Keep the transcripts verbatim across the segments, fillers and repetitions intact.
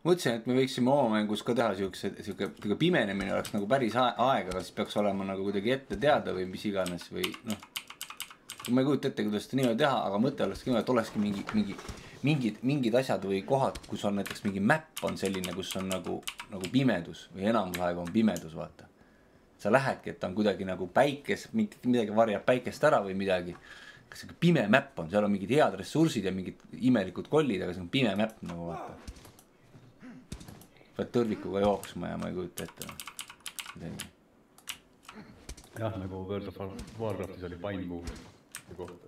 mõtlesin, et me võiksime oma mängus ka teha siukse, siuke pimenemine oleks nagu päris aega, aga siis peaks olema nagu kuidagi ette teada või mis iganes või noh. Ma ei kujuta ette, kuidas seda niimoodi teha, aga mõte oleks niimoodi, et olekski mingi, mingi, mingid, mingid asjad või kohad, kus on näiteks mingi map on selline, kus on nagu, nagu pimedus või enamus aega on pimedus, vaata. Sa lähedki, et on kuidagi nagu päikes, midagi varjab päikest ära või midagi. Kas see pime map on, seal on mingid head ressursid ja mingid imelikud kollid, aga see on pime map nagu vaata. Pead tõrvikuga jooksma ja ma ei kujuta ette. Midagi. Jah, nagu World of Warcraftis oli Pine Moon kohta.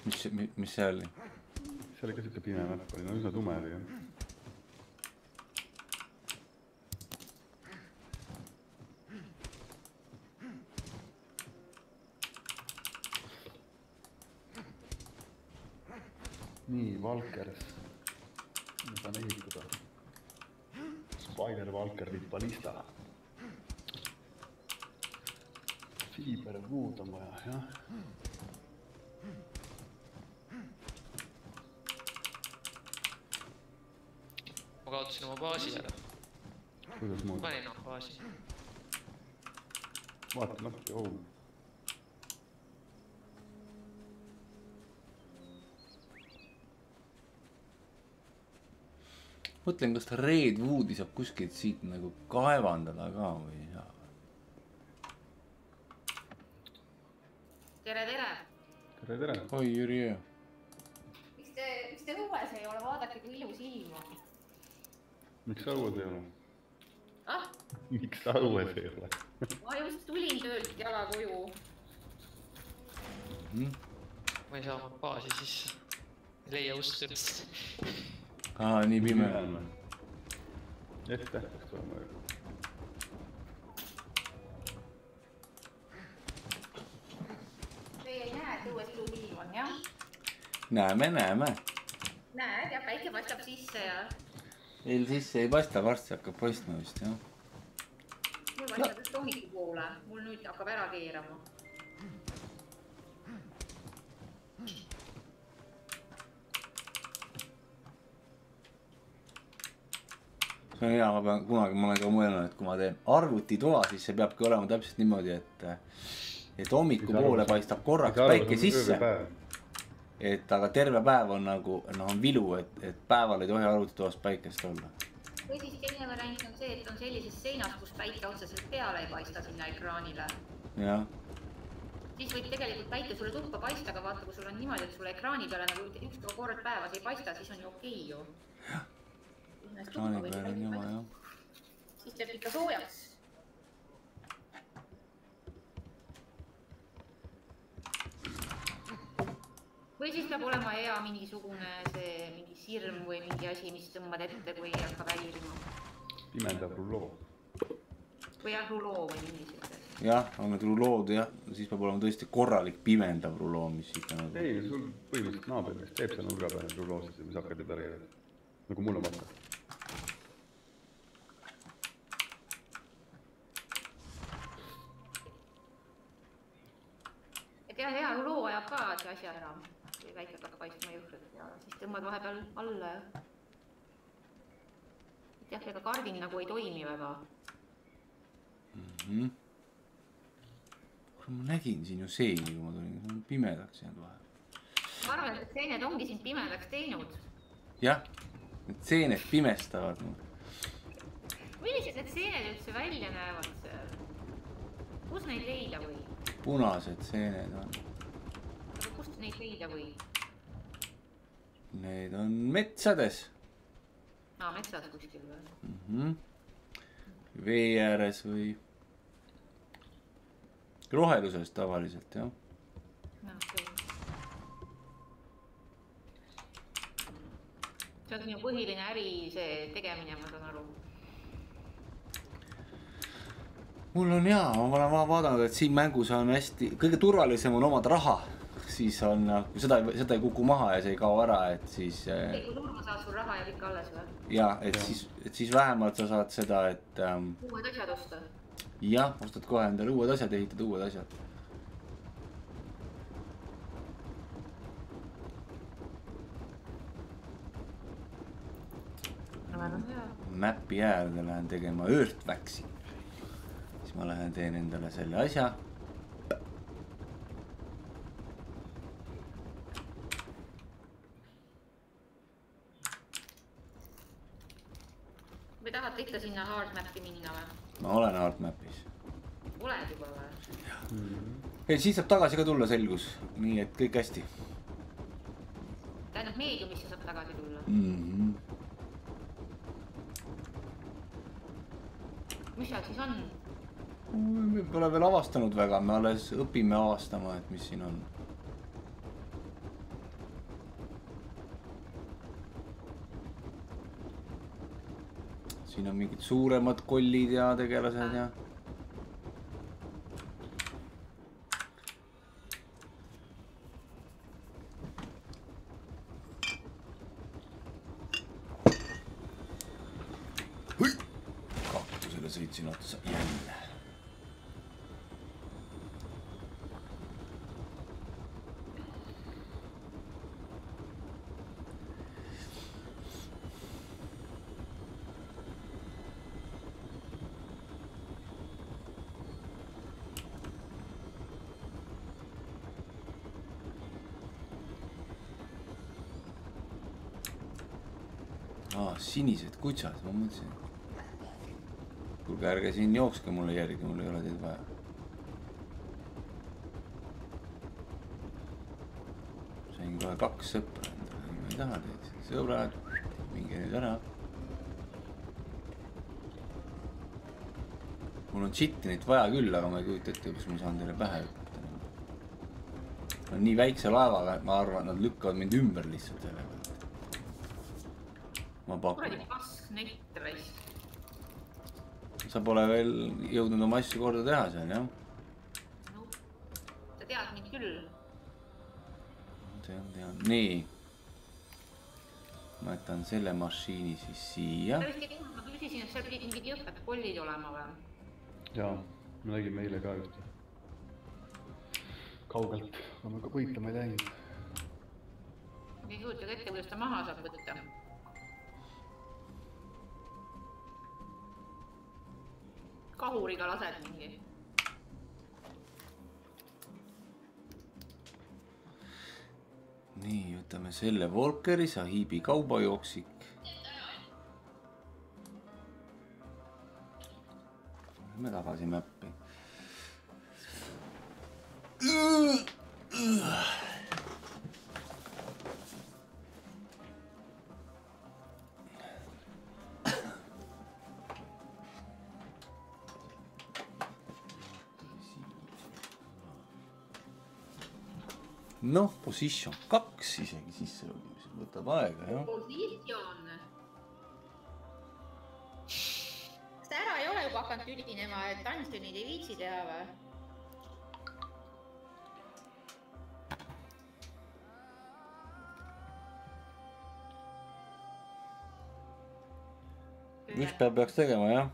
Mis, mis see oli? See oli ka siuke pime map, oli no üsna tume oli jah. Nii, Valkers. Ma saan ehitada. Spider Valker viib ballista. Fiber Wood on vaja, jah. Ma kaotasin oma baasi ära. Kuidas muud? Panin oma baasi. Vaata nappi, oh. Mõtlen, kas ta Redwoodi saab kuskilt siit nagu kaevandada ka või jah. Tere, tere! Tere, tere! Oi, Jüri. Miks te, miks te õues ei ole? Vaadake, kui ilus ilma. Miks sa õues ei ole? Ah? Miks sa õues ei ole? Ma just tulin töölt jala koju. Mm-hmm. Ma ei saa oma baasi sisse. Ei leia ust üldse. Aa, nii pime. Ette peaks tulema. Teie ei näe, et õues ilus ilm on, jah? Näeme, näeme. Näed, ja päike paistab sisse ja... Eil sisse ei paista, varsti hakkab paistma vist, jah. Mul paistab just hommiku poole. Mul nüüd hakkab ära keerama. See on hea, ma pean kunagi, ma olen ka mõelnud, et kui ma teen arvutitoa, siis see peabki olema täpselt niimoodi, et et hommiku poole paistab korraks päike sisse. Et aga terve päev on nagu, no on vilu, et, et päeval ei tohi arvutitoast päikest olla. Või siis teine variant on see, et on sellises seinas, kus päike otseselt peale ei paista sinna ekraanile. Jah. Siis võib tegelikult päike sulle tuppa paista, aga vaata, kui sul on niimoodi, et sulle ekraani peale nagu üks kord päevas ei paista, siis on ju okei ju. Ekraani peale on jama, jah. Siis teeb ikka soojaks. Või siis peab olema hea mingisugune see mingi sirm või mingi asi, mis tõmbad ette, kui ei hakka välirima. Pimendav ruloo. Või jah, ruloo või mingi selline. Jah, on need rulood, jah. Siis peab olema tõesti korralik pimendav ruloo, mis ikka nagu... Ei, sul põhimõtteliselt naaber vist teeb seal nurga peale ruloosid ja mis hakkad ja pärivad. Nagu mul on vaata. Et jah, hea ruloo ajab ka see asja ära. Kui väike hakkab paistma juhrid ja siis tõmbad vahepeal alla. Et jah, ega kardin nagu ei toimi väga. Mhm. Ma nägin siin ju seeni, kui ma tulin. See on pimedaks jäänud vahe. Ma arvan, et seened ongi sind pimedaks teinud. Jah, need seened pimestavad. Millised need seened üldse välja näevad seal? Kus neid leida või? Punased seened on. Aga kust neid leida või? Need on metsades. Aa, metsas kuskil või? Mhm. Vee ääres või... Roheluses tavaliselt, jah. No, okei. See on ju põhiline äri see tegemine, ma saan aru. Mul on jaa, ma olen vaadanud, et siin mängus on hästi... Kõige turvalisem on omad raha. Siis on, kui seda, seda ei kuku maha ja see ei kao ära, et siis... Ei, kui surma saad sul raha ja kõik alles või? Jaa, et siis, et siis vähemalt sa saad seda, et... Ähm, uued asjad osta? Jah, ostad kohe endale uued asjad, ehitad uued asjad. No väga hea. Mäpi äärde lähen tegema Earthwaxi. Siis ma lähen teen endale selle asja. Või tahate ikka sinna hardmap'i minna või? Ma olen hardmapis. Oled juba või? Ja siis saab tagasi ka tulla selgus. Nii et kõik hästi. Tähendab meediumisse saab tagasi tulla. Mm-hmm. Mis seal siis on? Me pole veel avastanud väga, me alles õpime avastama, et mis siin on. Siin on mingid suuremad kollid ja tegelased ja... Kaktusele sõitsin otsa jälle. Aa, sinised kutsad, ma mõtlesin. Kuulge, ärge siin jookske mulle järgi, mul ei ole teid vaja. Sain kohe kaks sõpra endale, ma ei taha teid. Sõbrad, minge nüüd ära. Mul on Chitinit vaja küll, aga ma ei kujuta ette, kus ma saan teile pähe hüpata. No nii väikse laevaga, et ma arvan, nad lükkavad mind ümber lihtsalt selle pealt. Ma pakun. Kuradi pask nett raisk. Sa pole veel jõudnud oma asju korda teha seal, jah? No, sa tead mind küll. Tean, tean. Nii. Ma jätan selle mašiini siis siia. Ta vist ei kuulnud, ma küsisin, et seal pidid mingid jõhkad kollid olema või? Jaa, me nägime eile ka ühte. Kaugelt, aga me ka võitlema ei läinud. Ma ei kujuta ette, kuidas ta maha saab võtta. Kahuriga lased mingi. Nii, võtame selle Volkeri, Sahibi kaubajooksik. Lähme tagasi mäppi. Noh, position kaks isegi sisse logimisel võtab aega, jah. Position. Kas ta ära ei ole juba hakanud ülinema, et Dungeonid ei viitsi teha või? Mis peab peaks tegema, jah?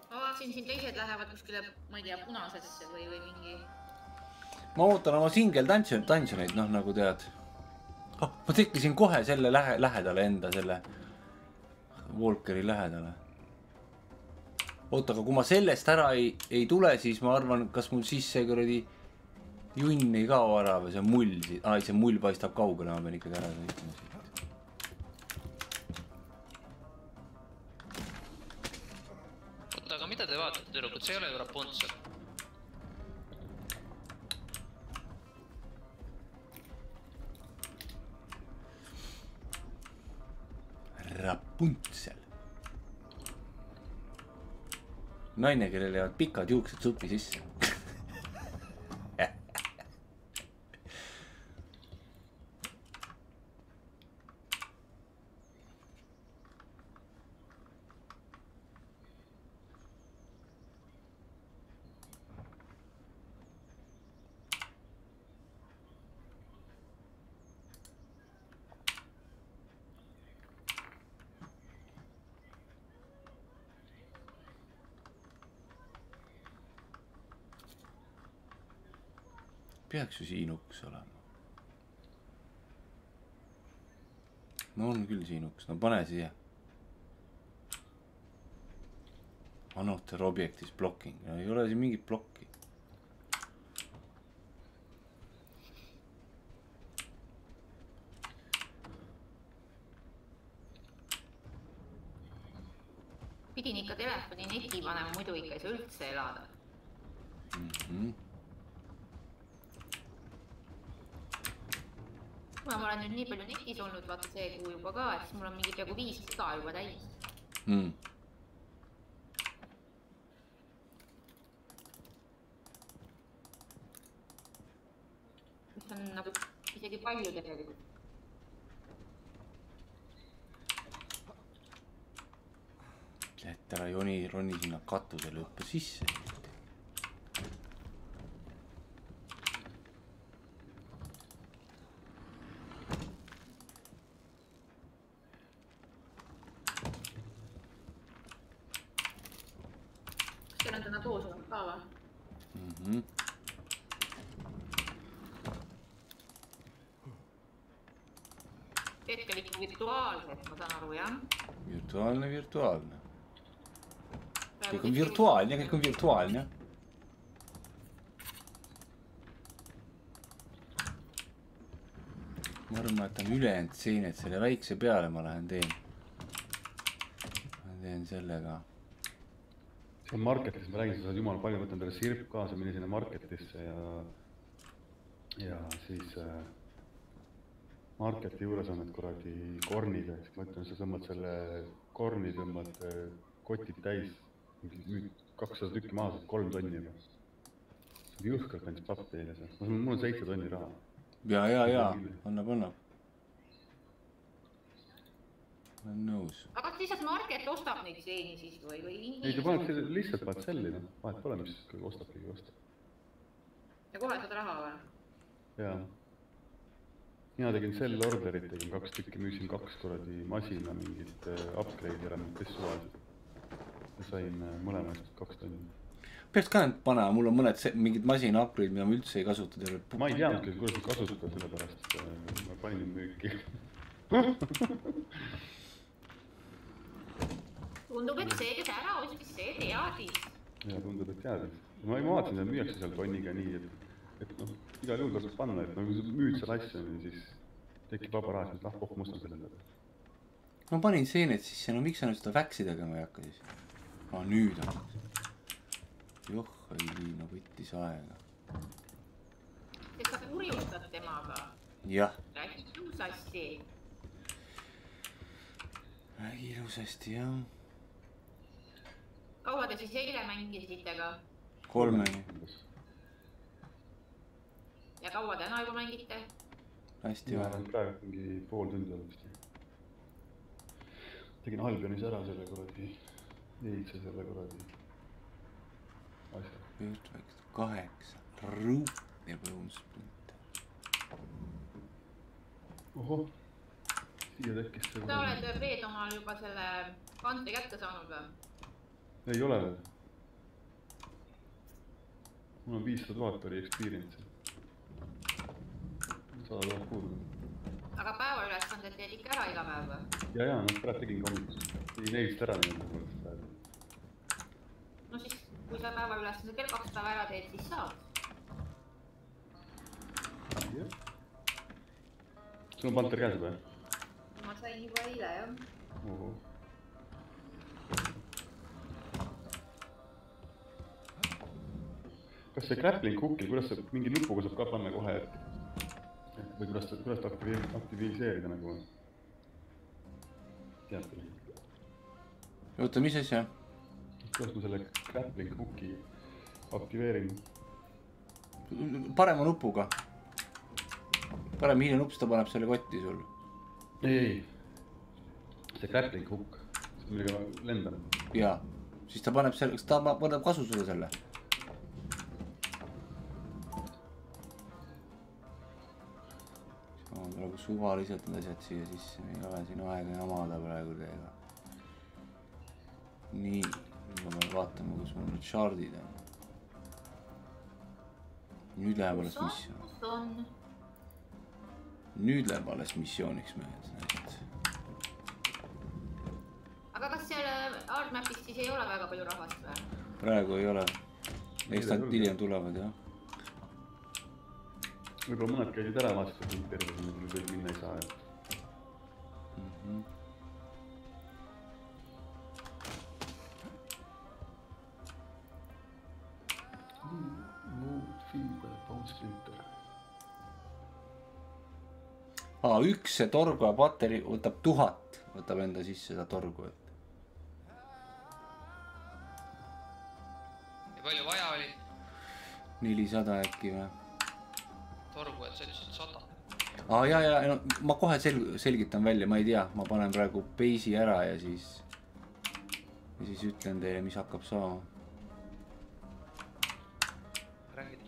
Ma vaatasin, siin teised lähevad kuskile, ma ei tea, punasesse või, või mingi... Ma ootan oma single dungeoneid, noh nagu tead. Oh, ma tekkisin kohe selle lähe, lähedale enda, selle Volkeri lähedale. Oota, aga kui ma sellest ära ei, ei tule, siis ma arvan, kas mul siis see kuradi junn ei kao ära või see mull siit. Ai, see mull paistab kaugele, ma pean ikkagi ära sõitma siit. Oota, aga mida te vaatate, tüdrukud? See ei ole ju Rapunzel. Rapunzel. Naine, kellel jäävad pikad juuksed supi sisse. Peaks ju siin uks olema. no on küll siin uks, no pane siia. Another objectis blocking, no ei ole siin mingit blokki. Pidin ikka telefoni neti panema, muidu ikka ei saa üldse elada. Mm-hmm. Kuna ma olen nüüd nii palju netis olnud, vaata see kuu juba ka, et siis mul on mingi peaaegu viis siga juba täis. Mm. Mis on nagu isegi palju tegelikult. Et ära joni, roni sinna katusele õppe sisse. Kas teil on täna koos olnud ka või? Mhm. Hetkel ikka virtuaalselt, ma saan aru, jah? Virtuaalne, virtuaalne. Kõik on virtuaalne, kõik on virtuaalne. Ma arvan, et on ülejäänud siin, et selle väikse peale ma lähen teen. Ma teen sellega. See on marketis, ma räägin, sa saad jumala palju, võtan teile sirp kaasa, mine sinna marketisse ja ja siis äh, marketi juures on need kuradi kornid, eks ma ütlen, sa tõmbad selle korni, tõmbad kotid täis, kakssada tükki maha, kolm tonni juba. See on jõhkalt andis pappi eile seal, mul on seitse tonni raha. Ja, ja, ja, annab, annab. Olen nõus. Aga kas lihtsalt market ostab neid seeni siis või? Ei, ta paneb selle lihtsalt vahet selli, no. Vahet pole, mis ostab kõige ostab. Ja kohe saad raha või? Jaa. Mina tegin sell orderit, tegin kaks tükki, müüsin kaks kuradi masina mingit upgrade'i ära, mis suvasid. Ja sain mõlemast kaks tonni. Peaks ka nüüd panema, mul on mõned mingid masina upgrade, mida ma üldse ei kasuta teile. Ma ei teadnud, kuidas ma kasutada selle pärast, ma panin müüki. Tundub, et see, kes ära ostis, see teadis. Ja tundub, et teadis. Ma ei vaatasin, et müüakse seal tonniga nii, et, et noh, igal juhul tasub panna, et nagu sa müüd seal asja, siis tekib vaba raha, siis ah, oh, mustan selle peale. Ma panin seened sisse, no miks sa nüüd seda väksi tegema ei hakka siis? Ah, nüüd hakkas. Joh, ei liina, võttis aega. Sest sa kurjustad temaga. Jah. Räägi ilusasti. Räägi ilusasti, jah. Kaua te siis eile mängisite ka? Kolmeni. Ja kaua täna juba mängite? Hästi vähe. Praegu mingi pool tundi olevasti. Tegin Albionis ära selle kuradi, eilse selle kuradi asja. Perfect, kaheksa, ruut ja põunsprinte. Oho, siia tekkis see... Sa oled Peet omal juba selle kante kätte saanud või? Ei ole veel. Mul on viissada tuhat oli experience. sada tuhat puudu. Aga päevaülesanded teed ikka ära iga päev või? Ja, ja, no praegu tegin kommutus. Tegin neist ära nii mõnest päev. No siis, kui sa päevaülesanded veel kaks päeva ära teed, siis saad. Jah. Sul on panter käes või? Ma sain juba eile, jah. Oho. Kas see grappling hookil, kuidas see mingi nupuga saab ka panna kohe, et või kuidas ta, kuidas ta aktiviseerida nagu? Tead küll. Oota, mis asja? Kuidas ma selle grappling hooki aktiveerin? Parema nupuga. Parem hiline nupp, ta paneb selle kotti sul. Ei, ei. See grappling hook, millega lendan. Jaa, siis ta paneb selle, kas ta paneb kasu sulle selle? Praegu suvaliselt need asjad siia sisse, me ei ole siin aega jamada praegu teiega. Nii, nüüd ma pean vaatama, kus mul nüüd shardid on. Nüüd läheb alles missioon. Nüüd läheb alles missiooniks mehed. aga kas seal Hardmapis siis ei ole väga palju rahvast või? Praegu ei ole. Eks nad hiljem tulevad, jah. Võib-olla mõned käisid ära vastu, kui terve siin veel minna ei saa. Mm -hmm. Aa, üks see torgu ja pateri võtab tuhat, võtab enda sisse seda torgu. Ja palju vaja oli? nelisada äkki või? Torgu, et sa ütlesid sada. Aa, ja, ja, no, ma kohe sel selgitan välja, ma ei tea, ma panen praegu base'i ära ja siis, ja siis ütlen teile, mis hakkab saama. Räägid.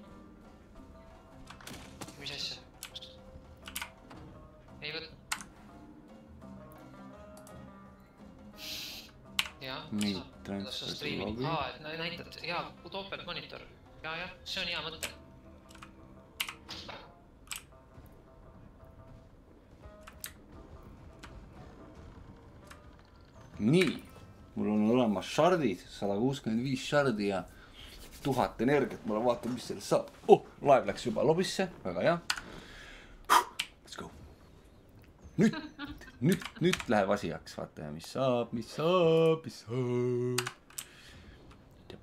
Mis asja? Ei võt. Jaa. Nii, transfer logi. Aa, et näitad, jaa, topelt monitor. Jaa, jah, see on hea mõte. Nii, mul on olemas shardid, sada kuuskümmend viis shardi ja tuhat energiat, ma vaatan, mis sellest saab. Oh, laev läks juba lobisse, väga hea. Let's go. Nüüd, nüüd, nüüd läheb asi jaks, vaata ja mis saab, mis saab, mis saab.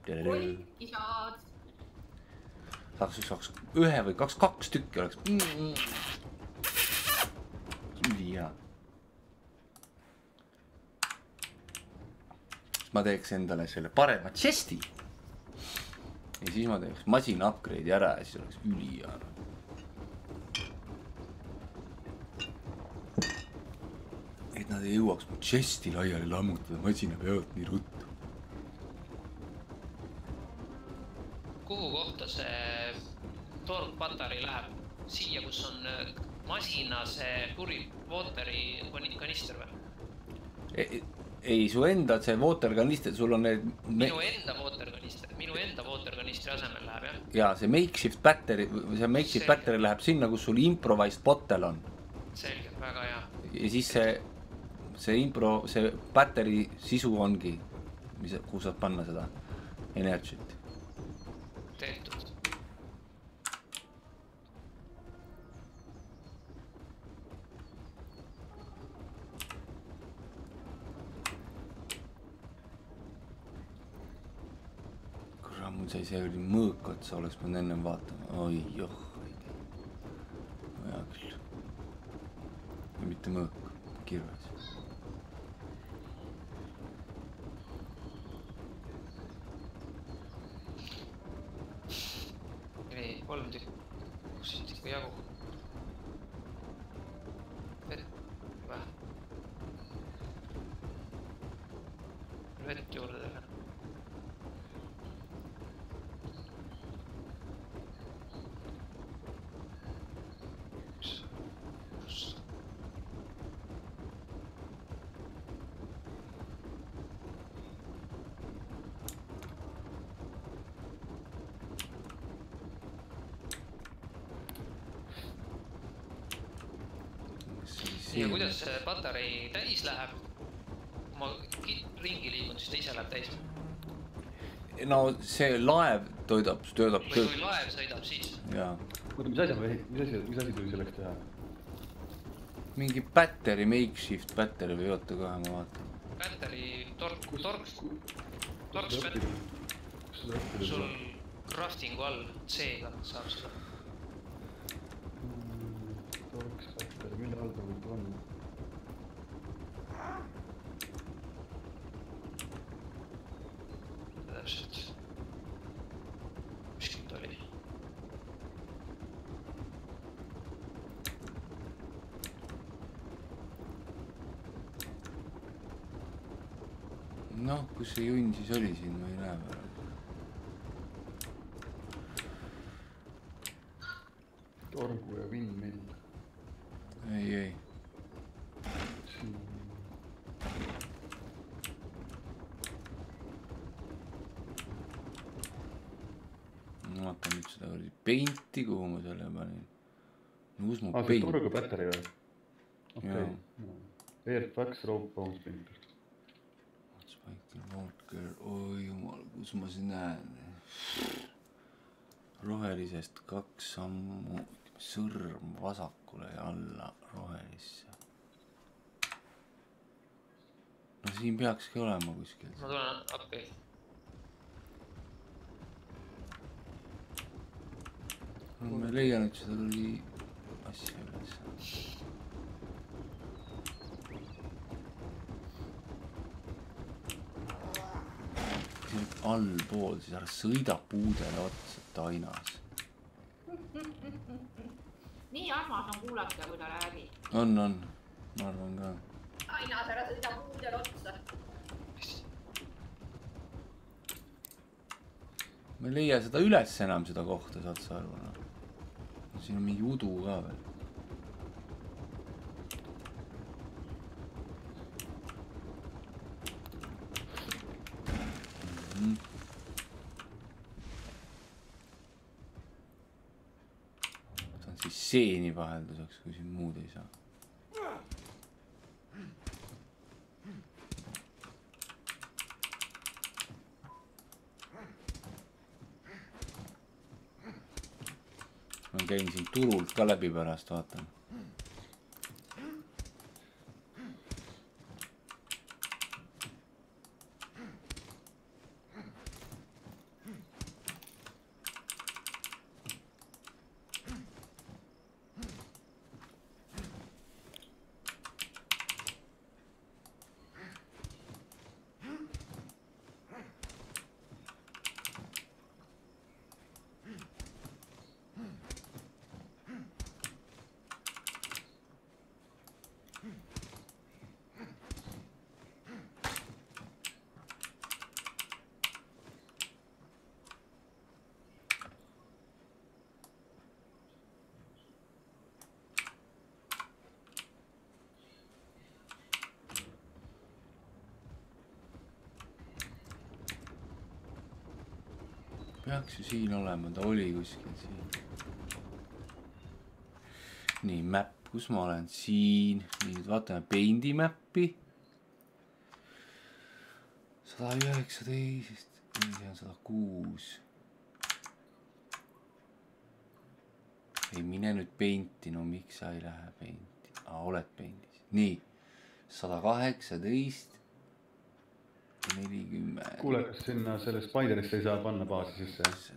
Kolmki saad. Saaks, saaks ühe või kaks, kaks tükki oleks. Üli hea. Ma teeks endale selle parema chesti. Ja siis ma teeks masina upgrade'i ära ja siis oleks üli hea. Et nad ei jõuaks mu chesti laiali lammutada masina pealt nii ruttu. Kuhu kohta see torg patari läheb? Siia, kus on masina see puri wateri kanister või? Ei, ei, su enda see water kanister, sul on need... Minu enda water kanister, minu enda water kanistri asemel läheb, jah? Jaa, see makeshift battery, see makeshift battery läheb sinna, kus sul improvised bottle on. Selge, väga hea. Ja siis see, see impro, see battery sisu ongi, mis, kuhu saad panna seda energiat. Tehtud. Kurra, mul sai see oli mõõk otsa, oleks pidanud ennem vaatama. Oi, joh. Hea küll. Ja mitte mõõk, kirves. Nii, kolm tükki. Kus siit ikka jagu? Vett, vähe. Vett juurde teha. Ja kuidas see patarei täis läheb? Kui ma ringi liigun, siis ta ise läheb täis. No see laev toidab, töötab. Või kui laev sõidab, siis? Jaa. Oota, mis asja, mis asja, mis asja tuli selleks teha? Mingi battery, makeshift battery või oota kohe, ma vaatan. Battery, tork, tork, tork spell. Sul craftingu all C-ga saab seda. Torks battery, mille all ta võib on? Täpselt. Miskit oli. Noh, kus see junn siis oli siin, ma ei näe praegu. Torgu ja windmill. Ei, ei. Siin. Ma vaatan nüüd seda oli painti, kuhu ma selle panin. Kus mu Ah, see paint? torgu battery või? Jaa. Okei. Airfax rope bones printer. Michael Walker, oi jumal, kus ma siin näen. Rohelisest kaks sammu, sõrm vasakule ja alla rohelisse. No siin peakski olema kuskil. Ma tulen appi. Ma ei leia nüüd seda küll asja üles. Siin allpool, siis ära sõida puudele otsa tainas. Nii armas on kuulata, kui ta räägib. On, on. Ma arvan ka. Tainas ära sõida puudele otsa. Ma ei leia seda üles enam seda kohta, saad sa aru. Siin on mingi udu ka veel. Mm-hmm. Võtan siis seeni vahelduseks, kui siin muud ei saa. Ma käin siin turult ka läbi pärast, vaatan. Peaks ju siin olema, ta oli kuskil siin. Nii, map, kus ma olen? Siin. Nii, nüüd vaatame Paint'i mappi. sada üheksateist, see on sada kuus. Ei mine nüüd Paint'i, no miks sa ei lähe Paint'i? Aa, oled Paint'is. Nii, sada kaheksateist. nelikümmend. Kuule, kas sinna selle Spiderisse ei saa panna baasi sisse?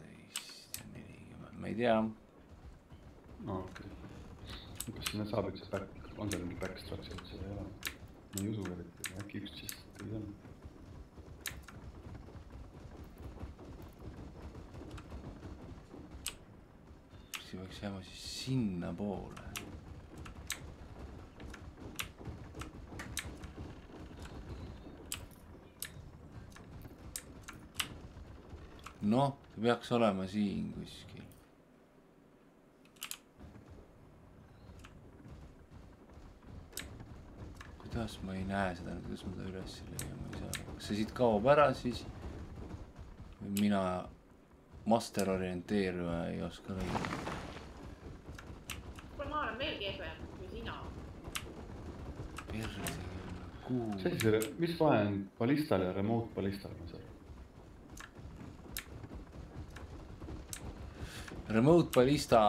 nelikümmend, ma ei tea. No okei. Okay. Kas sinna saab üldse back, on seal mingi backstraps, et seda ei ole? Ma ei usu veel, et äkki üks siis ei ole. See võiks jääma siis sinna poole. Noh, see peaks olema siin kuskil. Kuidas ma ei näe seda, kuidas ma ta üles leiama ei saa. Kas see siit kaob ära siis? Või mina master orienteerima ei oska leida. Kuule, ma olen veel kehvem kui sina. Perse, kuhu? Sellise, mis vahe on ballistal ja remote ballistal? Remote ballista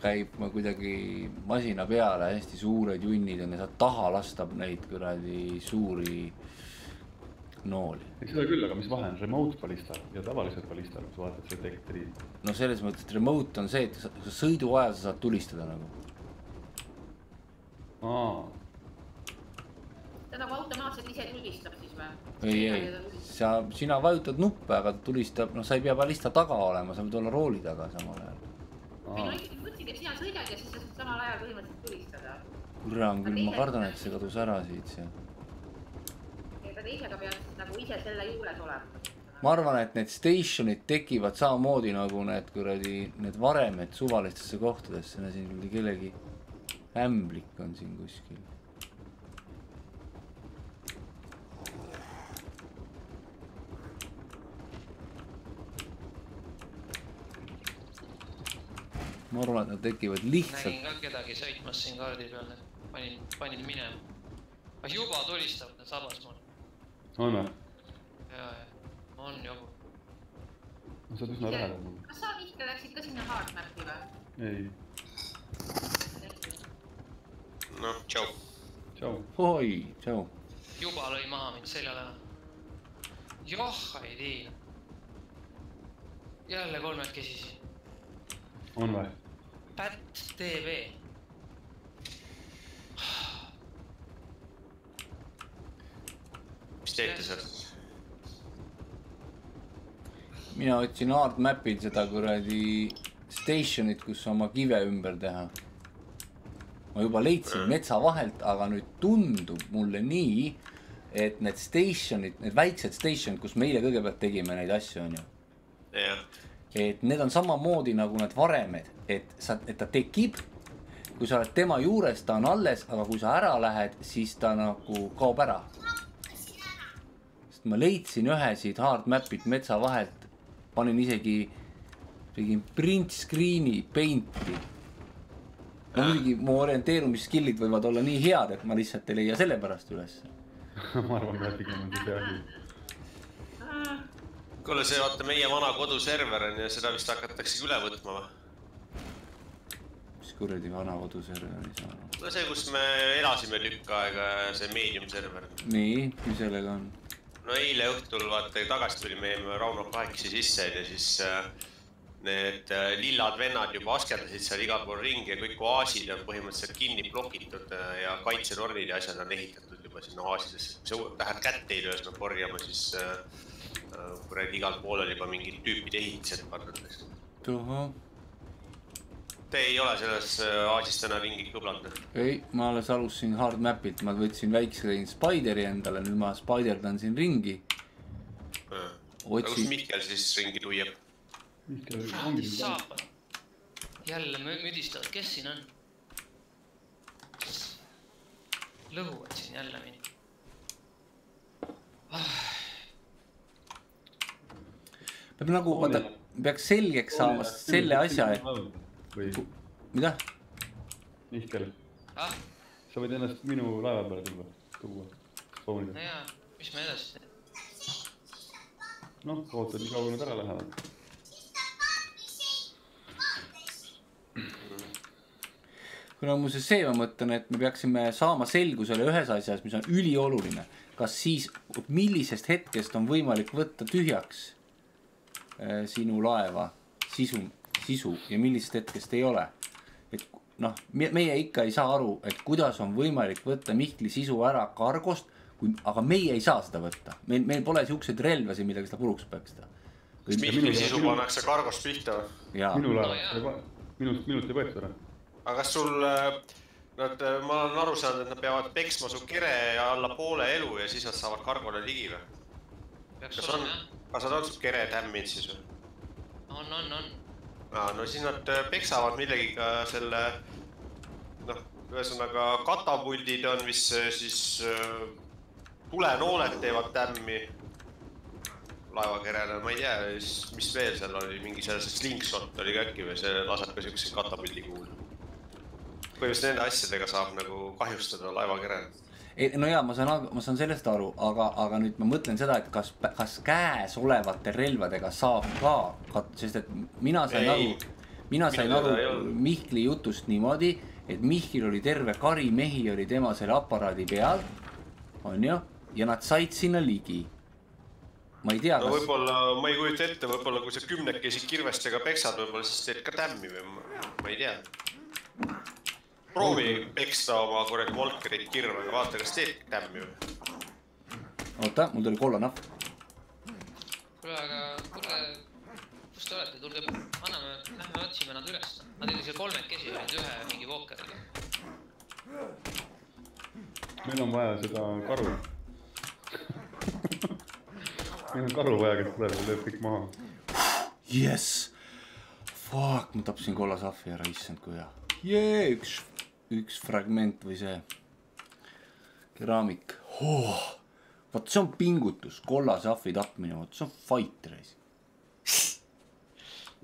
käib kuidagi masina peale, hästi suured junnid on ja saad taha lasta neid kuradi suuri nooli. Ei seda küll, aga mis vahe on remote ballistal ja tavaliselt ballistal, kui sa vaatad see tektri? No selles mõttes, et remote on see, et sa sõidu ajal sa saad tulistada nagu. Aa. Ta nagu automaatselt ise tulistab siis või? Ei, ei, sa, sina vajutad nuppe, aga tulistab, no sa ei pea ballista taga olema, sa võid olla rooli taga samal ajal. Ei no ikkagi mõtsid, et sina sõidad ja siis sa saad samal ajal põhimõtteliselt tulistada. Kurram küll, ma kardan, et see kadus ära siit see. Ega teisega pead nagu ise selle juures olema. Ma arvan, et need stationid tekivad samamoodi nagu need kuradi, need varemed suvalistesse kohtadesse, siin kellegi ämblik on siin kuskil. Ma arvan, et nad tekivad lihtsalt. Nägin ka kedagi sõitmas siin kaardi peal, panin, panin minema. Juba tulistab need sabas mul. On või? jaa, on jobu. No sa oled üsna lähedal mul. Kas sa Mihkel läksid ka sinna hardmappi või? Ei. No, tšau. Tšau. Oi, tšau. Juba lõi maha mind seljale. Joh, ei tii. Jälle kolmekesisi. On või? Pätt T V. Mis teete seal? Mina otsin hardmapil seda kuradi stationit, kus oma kive ümber teha. Ma juba leidsin metsa vahelt, aga nüüd tundub mulle nii, et need stationid, need väiksed stationid, kus meile kõigepealt tegime neid asju, on ju. Jah. Et need on samamoodi nagu need varemed, et, sa, et ta tekib, kui sa oled tema juures, ta on alles, aga kui sa ära lähed, siis ta nagu kaob ära. Sest ma leidsin ühe siit hardmapit metsa vahelt, panin isegi tegin print screen'i painti. No muidugi mu orienteerumisskillid võivad olla nii head, et ma lihtsalt ei leia selle pärast üles. Ma arvan, et pigem on see see asi. Kuule, see vaata meie vana koduserver on ja seda vist hakatakse üle võtma või? Mis kuradi vana koduserver ei saa? No see, kus me elasime tükk aega, see medium server. Nii, mis sellega on? No eile õhtul vaata tagasi tuli meie Rauno kahekesi sisse ja siis need lillad vennad juba askendasid seal igal pool ringi ja kõik oaasid on põhimõtteliselt kinni blokitud ja kaitsetornid ja asjad on ehitatud juba sinna oaasidesse. Kui sa lähed kätte ei löös me korjama, siis kuradi igal pool on juba mingid tüüpid ehitised pandud. Tuho. Te ei ole selles oaasis täna ringi kõblanud? Ei, ma alles alustasin hardmapilt, ma võtsin väikse Spideri endale, nüüd ma spiderdan siin ringi. Aga kus Mihkel siis ringi tuieb? Saapad. Jälle müdistavad, kes siin on? Lõhuvad siin jälle mini. Peab nagu, vaata, peaks selgeks saama selle asja, et... Või... Mida? Mihkel. Ah? Sa võid ennast minu laeva peale tuua. Tuua. Spoonida. No jaa, mis me edasi? Noh, ootad nii kaua nüüd ära lähevad. Kuna muuseas see ma mõtlen, et me peaksime saama selgusele ühes asjas, mis on ülioluline. Kas siis, millisest hetkest on võimalik võtta tühjaks äh, sinu laeva sisu, sisu ja millisest hetkest ei ole. Et noh, meie ikka ei saa aru, et kuidas on võimalik võtta Mihkli sisu ära kargost, kui, aga meie ei saa seda võtta. Meil, meil pole siukseid relvasi, millega seda puruks peaks ta. Kas Mihkli sisu pannakse kargost pihta või? Minu laeva, minust, minust ei võetud ära. Aga kas sul, nad, ma olen aru saanud, et nad peavad peksma su kere alla poole elu ja siis nad saavad kargole ligi või? Kas on, kas nad on su kere tämminud siis või? On, on, on. Aa, no siis nad peksavad millegiga selle, noh, ühesõnaga katapuldid on, mis siis tulenooled teevad tämmi laevakerele, ma ei tea, mis veel seal oli, mingi sellise slingshot oli äkki või see laseb ka siukse katapuldi kuul. Põhimõtteliselt nende asjadega saab nagu kahjustada laevakerele. No jaa, ma saan, ma saan sellest aru, aga, aga nüüd ma mõtlen seda, et kas, kas käes olevate relvadega saab ka, sest et mina sain ei, aru, mina sain aru Mihkli jutust niimoodi, et Mihkil oli terve kari mehi oli tema selle aparaadi peal, on ju, ja nad said sinna ligi. Ma ei tea, no kas... võib-olla, ma ei kujuta ette, võib-olla kui sa kümnekesi kirvestega peksad, võib-olla siis teed ka tämmi või ma ei tea. Proovi peksta oma korrekt Volkerit kirvega, vaata, kas teed tämmi või? Oota, mul tuli kolla nahv. Kuule, aga kuule, kus te olete? Tulge, anname, lähme otsime nad üles. Nad olid seal kolmekesi, olid ühe mingi Volkeriga. Meil on vaja seda karu. Meil on karu vaja, kes tuleb ja lööb kõik maha. Yes! Fuck, ma tapsin kolla sahvi ära, issand kui hea. Jee, üks, üks fragment või see keraamik. Oh, vaat see on pingutus, kolla sahvi tapmine, vaat see on fight reis.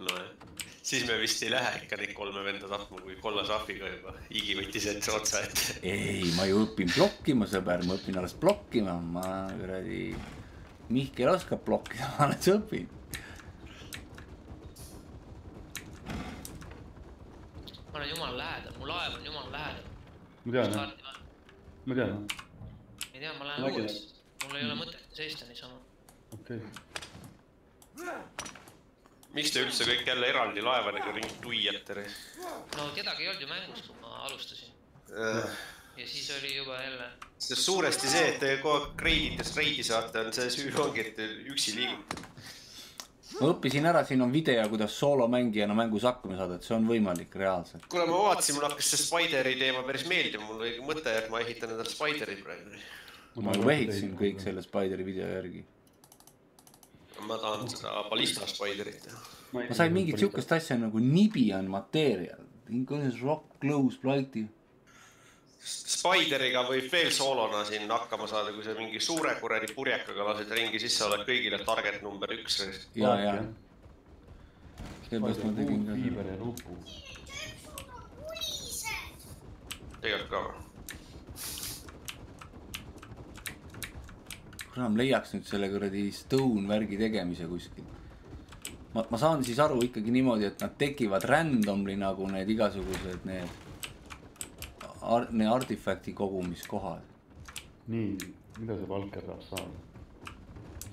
No siis me vist ei lähe ikka neid kolme venda tapma, kui kolla sahviga juba higi võttis ette otsa ette. Ei, ma ju õpin blokkima, sõber, ma õpin alles blokkima, ma kuradi Mihkel oskab blokkida, ma olen see õppinud. Ma olen jumal lähedal, mu laev on jumal lähedal. Ma tean, jah. Ma tean, jah. Ei tea, ma lähen uueks. Mul ei ole mõtet seista niisama. Okei. Miks te üldse kõik jälle eraldi laevadega ringi tuiate? No kedagi ei olnud ju mängus, kui ma alustasin. Ja siis oli juba jälle... See suuresti see, et te kogu aeg reiditest reidi saate, on see süü ongi, et te üksi liigute. Ma õppisin ära, siin on video, kuidas soolomängijana mängus hakkama saada, et see on võimalik reaalselt. Kuule, ma vaatasin, mul hakkas see Spideri teema päris meeldima, mul oli mõte, et ma ehitan endale Spideri praegu. Ma ju ehitasin kõik selle Spideri video järgi. Ma tahan seda ballista Spiderit. Ma sain mingit siukest asja nagu Nibian Material. Rock, Close, Blighty. Spideriga võib veel soolona siin hakkama saada, kui sa mingi suure kuradi purjekaga lased ringi, siis sa oled kõigile target number üks. Ja, ja. Seepärast ma tegin ka. Fiiber ja rupu. Tegelikult ka. Kuna ma leiaks nüüd selle kuradi stone värgi tegemise kuskil. Ma, ma saan siis aru ikkagi niimoodi, et nad tekivad randomly nagu need igasugused need Ar need artifakti kogumiskohad. Nii, mida see Valker saab saada?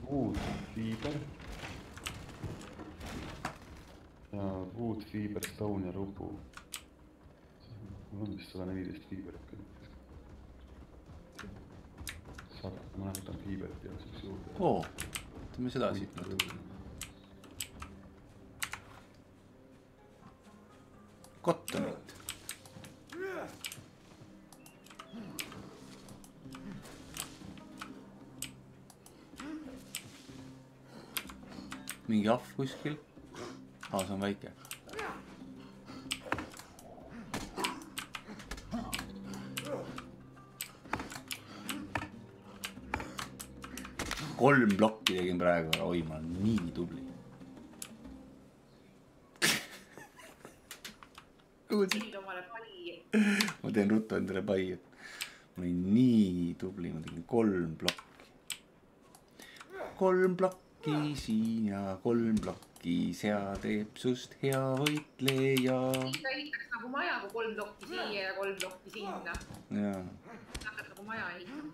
Wood, fiiber. Ja wood, fiiber, stone ja rupu. Mul on vist sada neliteist fiiberit küll. Saab, ma näitan fiiberit ja siis juurde. Oo, teeme seda siit natuke. Kottonit. Mingi ahv kuskil. Aa, see on väike. Kolm blokki tegin praegu. Oi, ma olen nii tubli. Ma teen ruttu endale pai, et ma olin nii tubli. Ma tegin kolm blokki. Kolm blokki. Siin ja kolm blokki, sea teeb sust hea võitleja. Siis ta ehitaks nagu maja, kui kolm blokki siia ja kolm blokki sinna. Jaa. Hakkad nagu maja ehitama.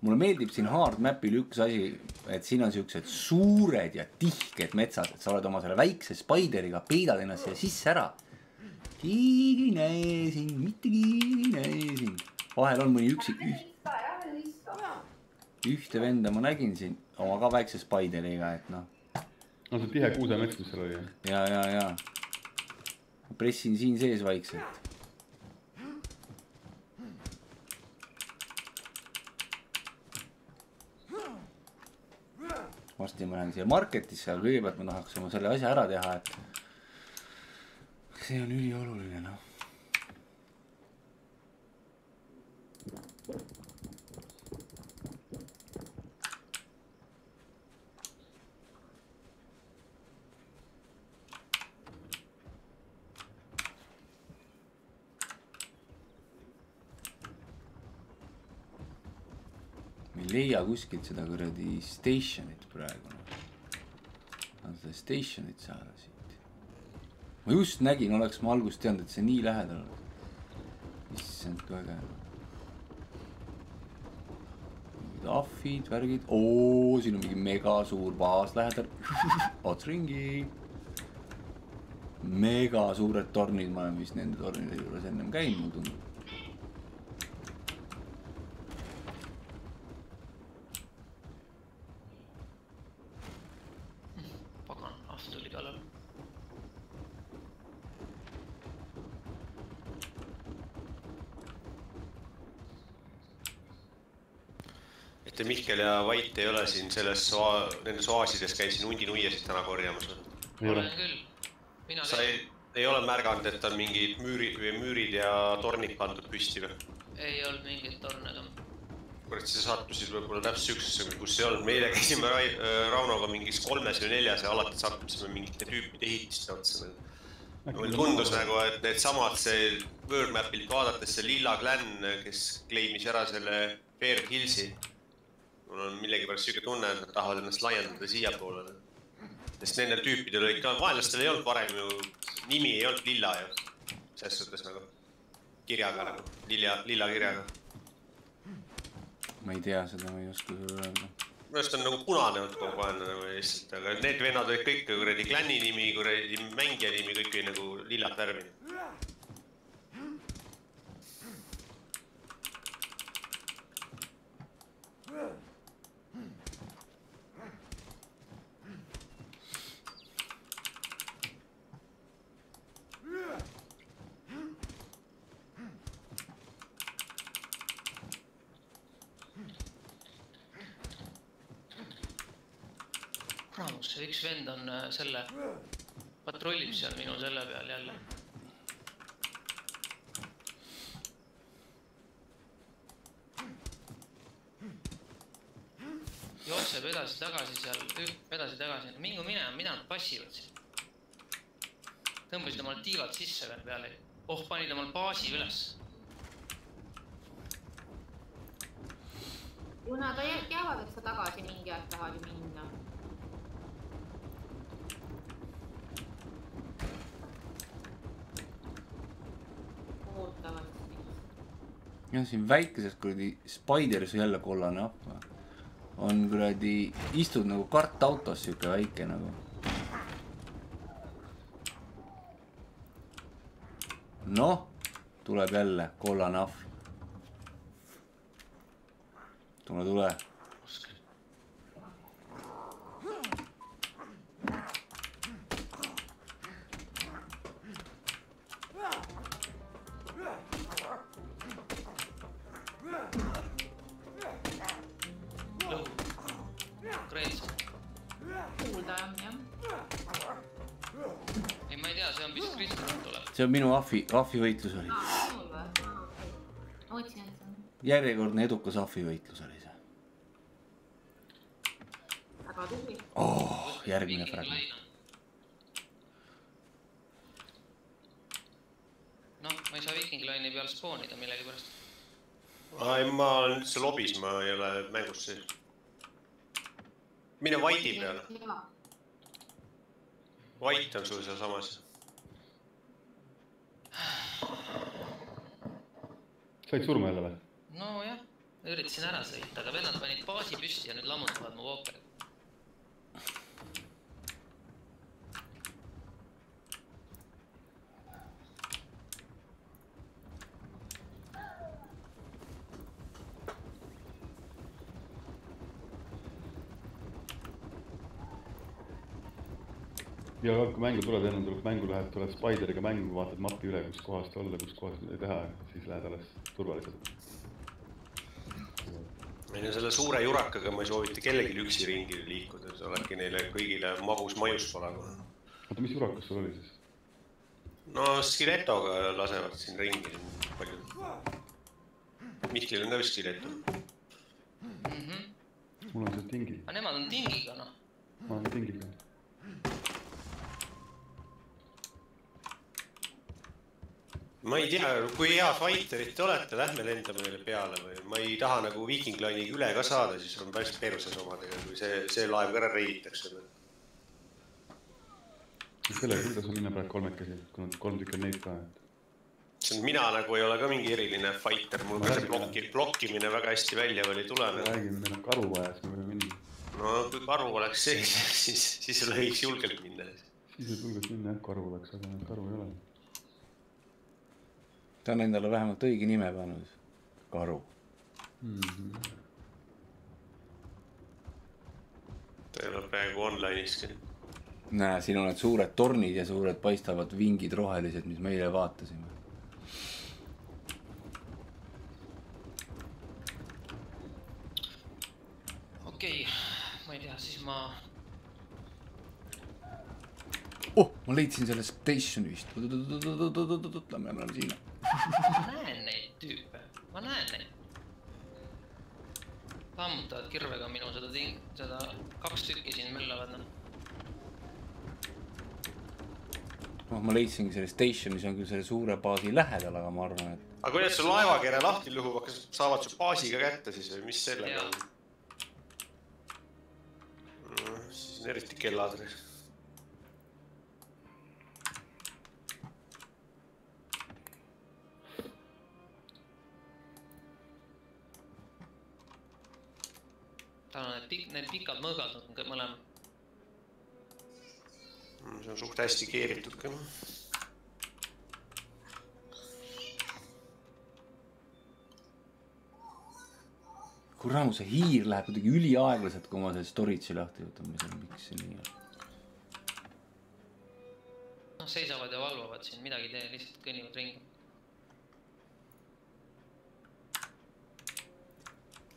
Mulle meeldib siin hard mapil üks asi, et siin on siuksed suured ja tihked metsad, et sa oled oma selle väikse Spideriga, peidad ennast siia sisse ära. Keegi näe sind, mitte keegi näe sind. Vahel on mõni üksi ühte venda ma nägin siin oma ka väikse Spideriga, et noh. On see tihe kuusemets, mis seal oli? Ja, ja, ja. Pressin siin sees vaikselt. Varsti ma lähen siia marketisse, aga kõigepealt ma tahaks oma selle asja ära teha, et see on ülioluline, noh. Me ei leia kuskilt seda kuradi stationit praegu. Tahan seda stationit saada siit. Ma just nägin, oleks ma algust teanud, et see nii lähedal on. Issand, kui äge. Mingid ahvid, värgid. Oo, siin on mingi mega suur baas lähedal. Ots ringi. Mega suured tornid, ma olen vist nende tornide juures ennem käinud, mul tundub. Mihkel ja Vait ei ole siin selles soa, nendes oaasides käisin hundinuiesid täna korjamas. Olen küll. Mina Sa ei, ei ole märganud, et on mingid müürid, müürid ja tornid pandud püsti või? Ei olnud mingit tornega. Kurat, see sattusid võib-olla täpselt üksusega, kus ei olnud. Meile käisime Raunoga mingis kolmes või neljas ja alati sattusime mingite tüüpide ehitiste otsa. mulle tundus nagu, et need samad see World Mapilt vaadates see Lilla Clan, kes kleimis ära selle Bear Hillsi. Mul on millegipärast siuke tunne, et nad tahavad ennast laiendada siia poolele. Sest nendel tüüpidel olid ka, vaenlastel ei olnud varem ju, nimi ei olnud Lilla ju. Selles suhtes nagu kirjaga nagu, lilla, lilla kirjaga. Ma ei tea seda, ma ei oska sulle öelda. Minu arust on nagu punane olnud kogu aeg nagu lihtsalt, aga need vennad olid kõik kuradi klanni nimi, kuradi mängija nimi, kõik oli nagu lillat värvi. Ramus, see üks vend on selle, patrullib seal minu selle peal jälle. Jookseb edasi tagasi seal, edasi tagasi, mingu mine, mida nad passivad siin. Tõmbasid omal tiivad sisse veel peale. Oh, panid omal baasi üles. Kuna ta teavad, et sa tagasi mingi aeg tahad ju minna. Ja siin väikeses kuradi Spideris jälle kollane appa. On kuradi, istud nagu kartautos siuke väike nagu. Noh, tuleb jälle kollane ahv. Tule, tule. See on minu ahvi, ahvi võitlus oli. Järjekordne edukas ahvi võitlus oli see. Oh, järgmine fragment. Noh, ma ei saa Viking Line'i peal spoonida millegi pärast. Ai, ma olen üldse lobis, ma ei ole mängus sees. Mine White'i peale. White on sul seal samas. Said surma jälle või? No jah, üritasin ära sõita, aga vennad panid baasi püsti ja nüüd lammutavad mu Walkeri. Ja kui mängu tuled, enne tuleb mängu lähed, tuled Spideriga mängu, vaatad mapi üle, kus kohast olla, kus kohast ei teha, siis lähed alles turvaliselt. Meil on selle suure jurakaga ma ei soovita kellelgi üksi ringi liikuda, see oledki neile kõigile magus majus polaga. Oota, mis jurakas sul oli siis? No Skiletoga lasevad siin ringi palju. Mihklil on ka vist Skileto. Mul on see tingi. Aga nemad on tingiga, noh. Ma olen tingiga. Ma ei tea, kui hea fighterit te olete, lähme lendame meile peale või ma ei taha nagu Viking Line'iga üle ka saada, siis on päris perses omadega, kui see, see laev ka ära reiditakse. Selle kuidas on minna praegu kolmekesi, kui on kolm tükki neid ka. Mina nagu ei ole ka mingi eriline fighter, mul ka see blokki, blokkimine väga hästi välja oli tulema. Räägime, meil on karu vaja, siis me võime minna. No kui karu oleks sees, siis, siis võiks julgelt minna. Siis võib julgelt minna, jah, karu oleks, aga karu ei ole. Ta on endale vähemalt õige nime pannud. Karu. Mm-hmm. Ta ei ole praegu online'iski. Näe, siin on need suured tornid ja suured paistavad vingid rohelised, mis meile vaatasime. Okei, ma ei tea, siis ma... Oh, ma leidsin selle station vist. Lämme, me oleme siin. Ma näen neid tüüpe, ma näen neid. Lammutavad kirvega minu seda ting... seda kaks tükki siin möllavad. noh, ma leidsingi selle station, mis on küll selle suure baasi lähedal, aga ma arvan, et... Aga kuidas su laevakere lahti lõhub, kas saavad su baasiga kätte siis või mis sellega on? No, siis on eriti kellad. Ta on need, pik need pikad mõõgad on mõlemad. See on suht hästi keeritud ka. Kurramu, see hiir läheb kuidagi üliaeglaselt, kui ma selle storage'i lahti võtan, mis on, miks see nii on. Noh, seisavad ja valvavad siin, midagi tee, lihtsalt kõnnivad ringi.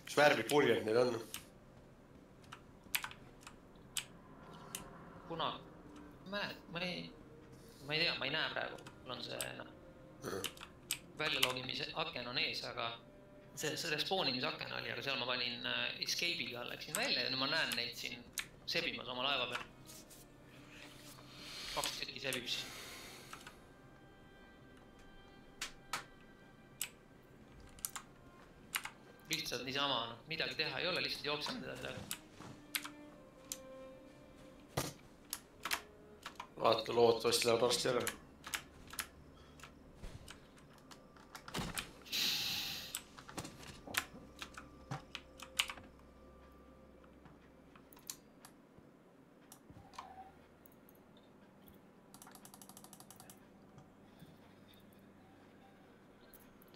Mis värvi purjed need on? Kuna, ma ei, ma ei tea, ma ei näe praegu, mul on see no, väljalogimise aken on ees, aga see, see respawnimise aken oli, aga seal ma panin escape'iga, läksin välja ja nüüd ma näen neid siin sebimas oma laeva peal. Kaks tükki sebib siin. Lihtsalt niisama, no, midagi teha ei ole, lihtsalt jooksen teda sellega. Vaata, loodavasti läheb varsti ära.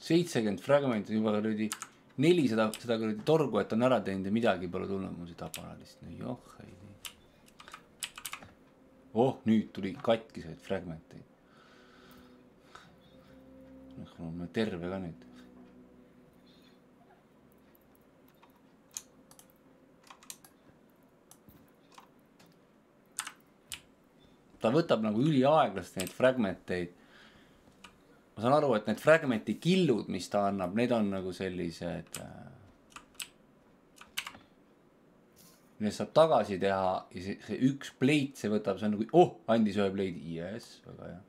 seitsekümmend fragmenti juba kuradi nelisada seda kuradi torgu, et on ära teinud ja midagi pole tulnud mu seda aparaadist. No joh, ei tea. Oh, nüüd tuli katkiseid fragmenteid. On terve ka nüüd. Ta võtab nagu üliaeglast neid fragmenteid. Ma saan aru, et need fragmenti killud, mis ta annab, need on nagu sellised... Need saab tagasi teha ja see, see üks pleit, see võtab, see on nagu, oh, andis ühe pleidi, yes, väga hea.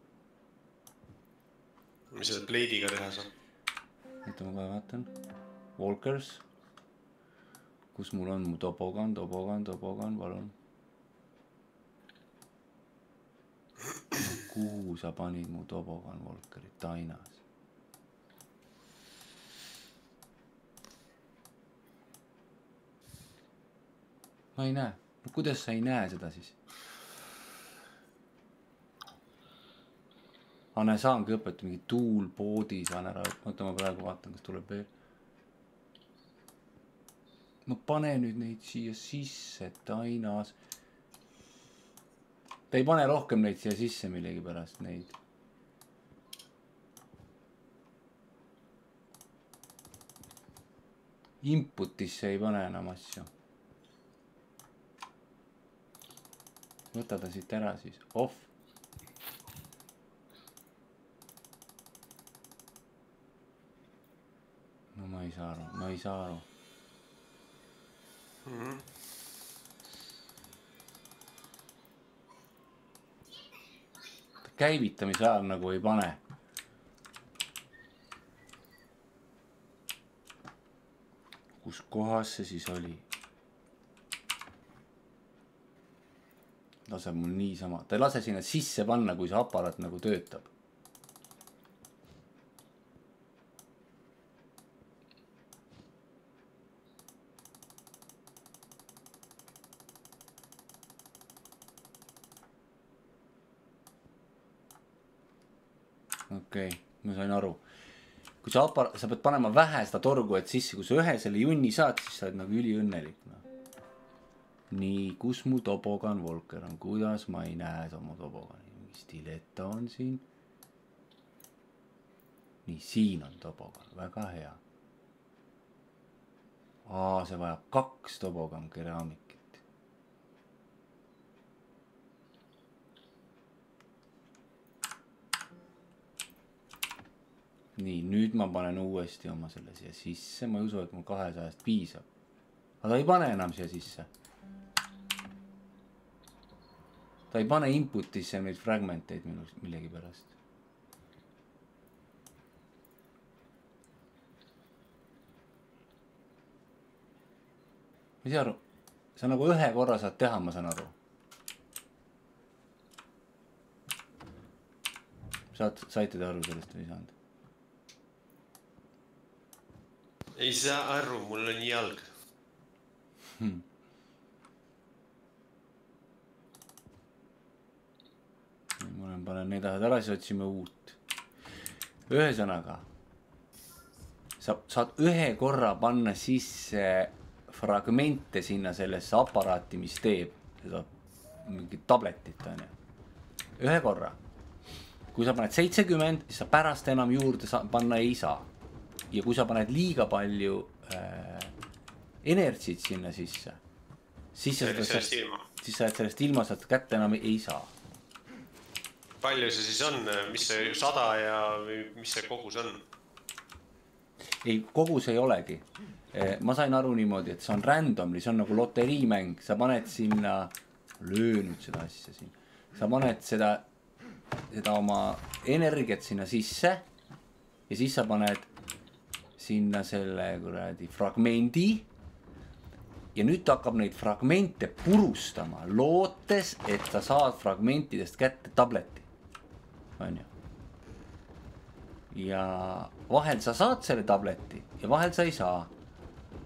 Mis selle pleidiga teha saab? Nüüd ma kohe vaatan. Walkers. Kus mul on mu topogan, topogan, topogan, palun. Kuhu sa panid mu topogan Walkerit? Tainas. Ma ei näe. No, kuidas sa ei näe seda siis? Anne, saangi õpetada mingi tool boodi, saan ära. Mõtle, ma praegu vaatan, kas tuleb veel. Ma pane nüüd neid siia sisse, Tainas. Ta ei pane rohkem neid siia sisse millegi pärast neid. Inputisse ei pane enam asju. Võta ta siit ära siis. Off. No ma ei saa aru, ma ei saa aru. Mm-hmm. Käivitamise ajal nagu ei pane. Kus kohas see siis oli? Lase mul niisama. Ta ei lase sinna sisse panna, kui see aparaat nagu töötab. Okei, okay, ma sain aru. Kui sa, apar sa pead panema vähe seda torgu, et sisse, kui sa ühe selle junni saad, siis sa oled nagu üli õnnelik. No. Nii, kus mu topogan Walker on? Kuidas ma ei näe oma topogani? Mingi stiletta on siin. Nii, siin on topogan. Väga hea. Aa, see vajab kaks topogan keraamikit. Nii, nüüd ma panen uuesti oma selle siia sisse. Ma ei usu, et mul kahesajast piisab. Aga ta ei pane enam siia sisse. ta ei pane inputisse neid fragmenteid millegi pärast. Ma ei saa aru, sa nagu ühe korra saad teha, ma saan aru. Saad, saite te aru sellest või ei saanud? Ei saa aru, mul on jalg. Hmm. Ma olen panen neid asjad ära, siis otsime uut. Ühesõnaga, sa saad ühe korra panna sisse fragmente sinna sellesse aparaati, mis teeb seda mingit tabletit, on ju. Ühe korra. Kui sa paned seitsekümmend, siis sa pärast enam juurde panna ei saa. Ja kui sa paned liiga palju äh, energiat sinna sisse, siis sa sellest ilma. Siis sa sellest ilma saad kätte enam ei saa. Palju see siis on? Mis see sada ja mis see kogus on? Ei, kogus ei olegi. Ma sain aru niimoodi, et see on randomly, see on nagu loteriimäng. Sa paned sinna, löö nüüd seda asja siin. Sa paned seda, seda oma energiat sinna sisse ja siis sa paned sinna selle kuradi fragmendi ja nüüd ta hakkab neid fragmente purustama, lootes, et sa saad fragmentidest kätte tableti. On ju. Ja vahel sa saad selle tableti ja vahel sa ei saa.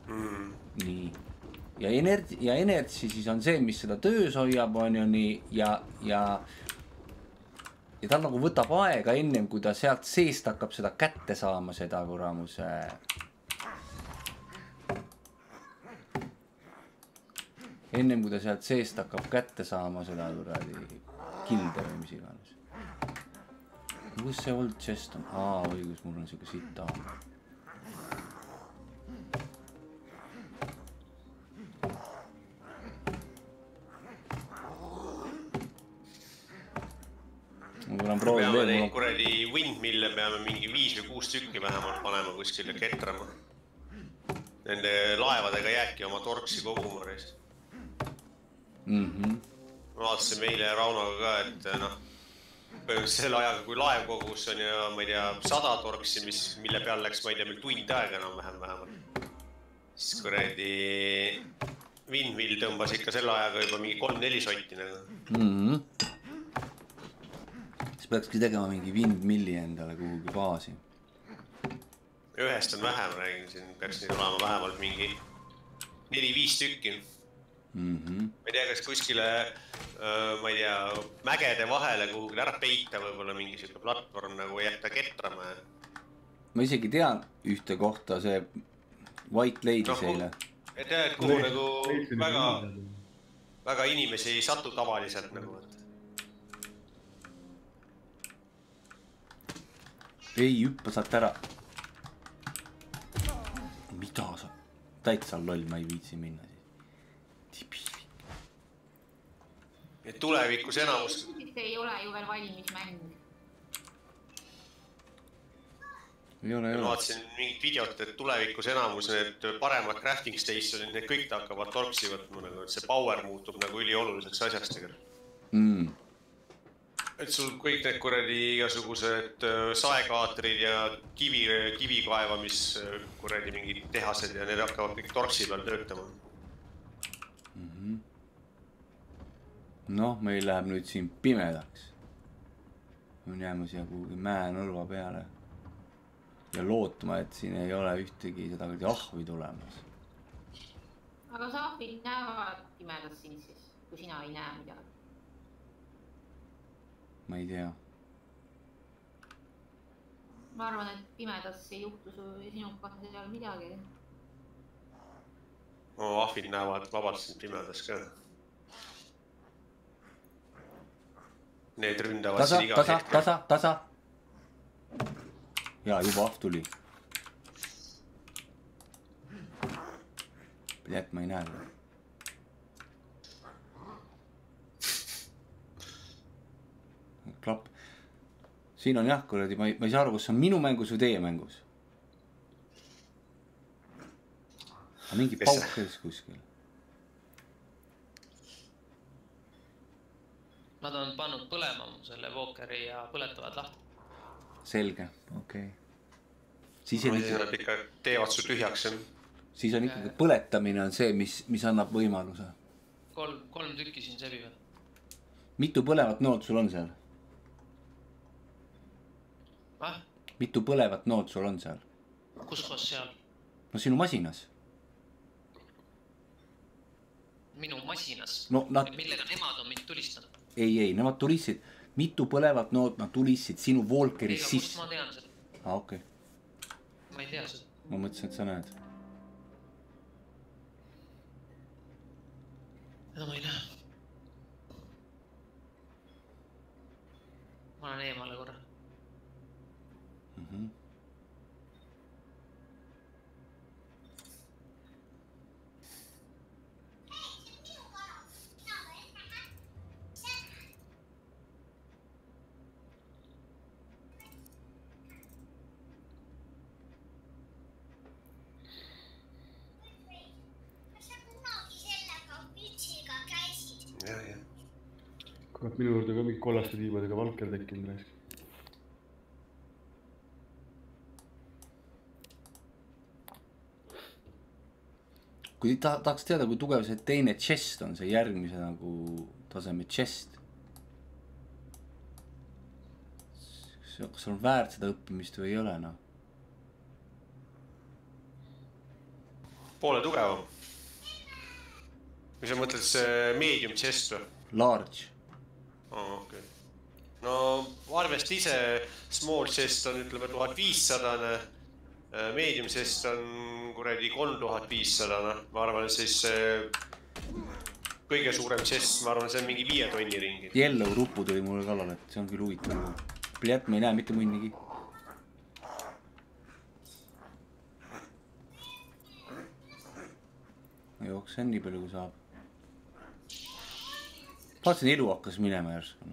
Mm. Nii. Ja energi, ja energi siis on see, mis seda töös hoiab, on ju nii, ja, ja ja tal nagu võtab aega ennem, kui ta sealt seest hakkab seda kätte saama, seda kuramuse. Ennem, kui ta sealt seest hakkab kätte saama seda kuradi kilde või mis iganes. Kus see old chest on? Aa, õigus, mul on siuke sita. Peame neid kuradi windmille peame mingi viis või kuus tükki vähemalt panema kuskile ketrama. Nende laevadega jääki oma torksi koguma reis. Mm-hmm. Ma vaatasin meile ja Raunoga ka, et noh, selle ajaga kui laev kogus on ja ma ei tea, sada torksi, mis, mille peal läks, ma ei tea, meil tund aega enam vähem vähemalt. Siis kuradi windmill tõmbas ikka selle ajaga juba mingi kolm-neli sotti nagu. Mm-hmm. Peakski tegema mingi windmilli endale kuhugi baasi. Ühest on vähem, räägin siin, peaks neid olema vähemalt mingi neli-viis tükki. Mm-hmm. Ma ei tea, kas kuskile, ma ei tea, mägede vahele kuhugi ära peita võib-olla mingi siuke platvorm nagu jätta ketrama. Ma isegi tean ühte kohta, see White Lady no, seile. Et tea, et kuhu nagu väga, väga inimesi ei satu tavaliselt nagu. Ei, hüppa saad ära. Mida sa? Täitsa loll, ma ei viitsi minna siis. Et tulevikus enamus... ei ole ju veel valmis mäng. Ei ole, ei ole. Ma vaatasin mingit videot, et tulevikus enamus need paremad crafting stationid, need kõik hakkavad torksi võtma, et see power muutub nagu ülioluliseks asjaks tegelikult. Mm. Et sul kõik need kuradi igasugused saekaatrid ja kivi, kivikaevamis kuradi mingid tehased ja need hakkavad kõik torksi peal töötama. Mm-hmm. Noh, meil läheb nüüd siin pimedaks. Me jääme siia kuhugi mäenõlva peale. Ja lootma, et siin ei ole ühtegi seda ahvi tulemas. Aga sa ahvid näevad pimedas siin siis, kui sina ei näe midagi. Ma ei tea. Ma arvan, et pimedas ei juhtu sinu kohta seal midagi. No, ahvid näevad vabalt siin pimedas ka. Need ründavad tasa, siin iga tasa, hetkel. Tasa, tasa. Jaa, juba ahv tuli. Pilet, ma ei näe. Klapp. Siin on jah, kuradi, ma ei, ma ei saa aru, kus on minu mängus või teie mängus. Aga mingi pauk käis kuskil. Nad on pannud põlema selle Walkeri ja põletavad lahti. Selge, okei okay. Siis on on ikka... Nad ikka teevad su tühjaks. Siis on ikkagi põletamine on see, mis, mis annab võimaluse. Kolm, kolm tükki siin sebivad. Mitu põlevat nood sul on seal? Ah? Mitu põlevat nood sul on seal? Kus koos seal? No sinu masinas. Minu masinas? No, nad... Millega nemad on mind tulistanud? Ei, ei, nemad tulisid. Mitu põlevat nood nad tulisid sinu Walkeris Ega, sisse? Kust ma tean seda? Ah, okei okay. Ma ei tea seda. Ma mõtlesin, et sa näed. No ma ei näe. Ma olen eemale korra. Mhm. Kurat, minu juurde ka mingi kollaste tiibadega Valker tekkinud raisk. Kui ta, tahaks teada, kui tugev see teine chest on, see järgmise nagu taseme chest. Kas on väärt seda õppimist või ei ole, noh? Poole tugevam. Kui sa mõtled see medium chest või? Large. Oh, okay. No arvest ise small chest on ütleme tuhat viissada, medium chest on kuredi kolm tuhat viissada. Ma arvan, et siis kõige suurem chest, ma arvan, see on mingi viie tonni ringi. Yellow rupu tuli mulle kallal, et see on küll huvitav. Pliat, ma ei näe mitte mõnnigi. Ma jooksen nii palju kui saab. Vaatasin, elu hakkas minema järsku.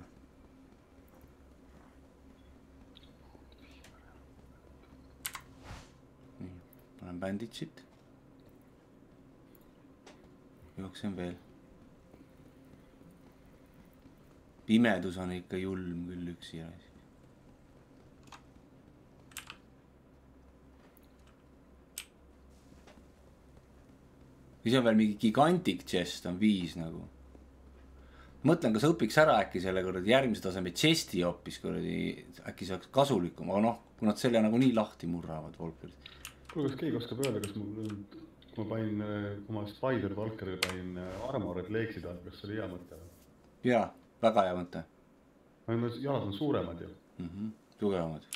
Nii, panen banditsit. Jooksen veel. Pimedus on ikka julm küll üksi järsku. Siis on veel mingi gigantic chest on viis nagu. Mõtlen, kas õpiks ära äkki selle kuradi järgmise taseme chesti hoopis kuradi, äkki saaks kasulikum, aga noh, kui nad selle nagu nii lahti murravad Walkerit. Kuule, kas keegi oskab öelda, kas mul, kui ma panin oma Spider Walkeril panin armored leeksid, kas see oli hea mõte? Jaa, väga hea mõte. Jalad on suuremad ju. Mm-hmm, tugevamad.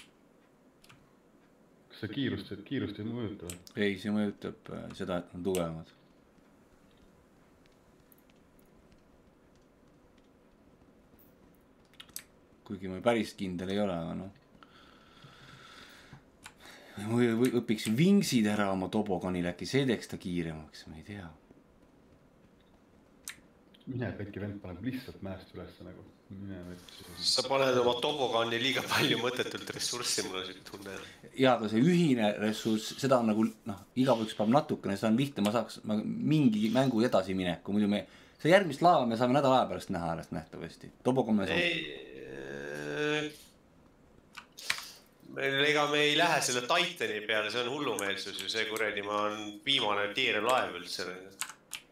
Kas see kiirust, kiirust ei mõjuta? Ei, see mõjutab seda, et on tugevamad. Kuigi ma päris kindel ei ole, aga noh. Või, või õpiks vingsid ära oma toboganil, äkki see teeks ta kiiremaks, ma ei tea. Mine pekki vend paneb lihtsalt mäest üles nagu. Mine võtsi. Sa paned oma tobogani liiga palju mõttetult ressurssi, mul on siit tunne. Jaa, aga see ühine ressurss, seda on nagu, noh, igaüks paneb natukene, seda on lihtne, ma saaks ma, mingi mängu edasi mineku. Muidu me, see järgmist laeva me saame nädal aja pärast näha alles nähtavasti. Tobogan me saame... Meil, ega me ei lähe selle Titani peale, see on hullumeelsus ju, see kuredi, ma on viimane tiire laev üldse.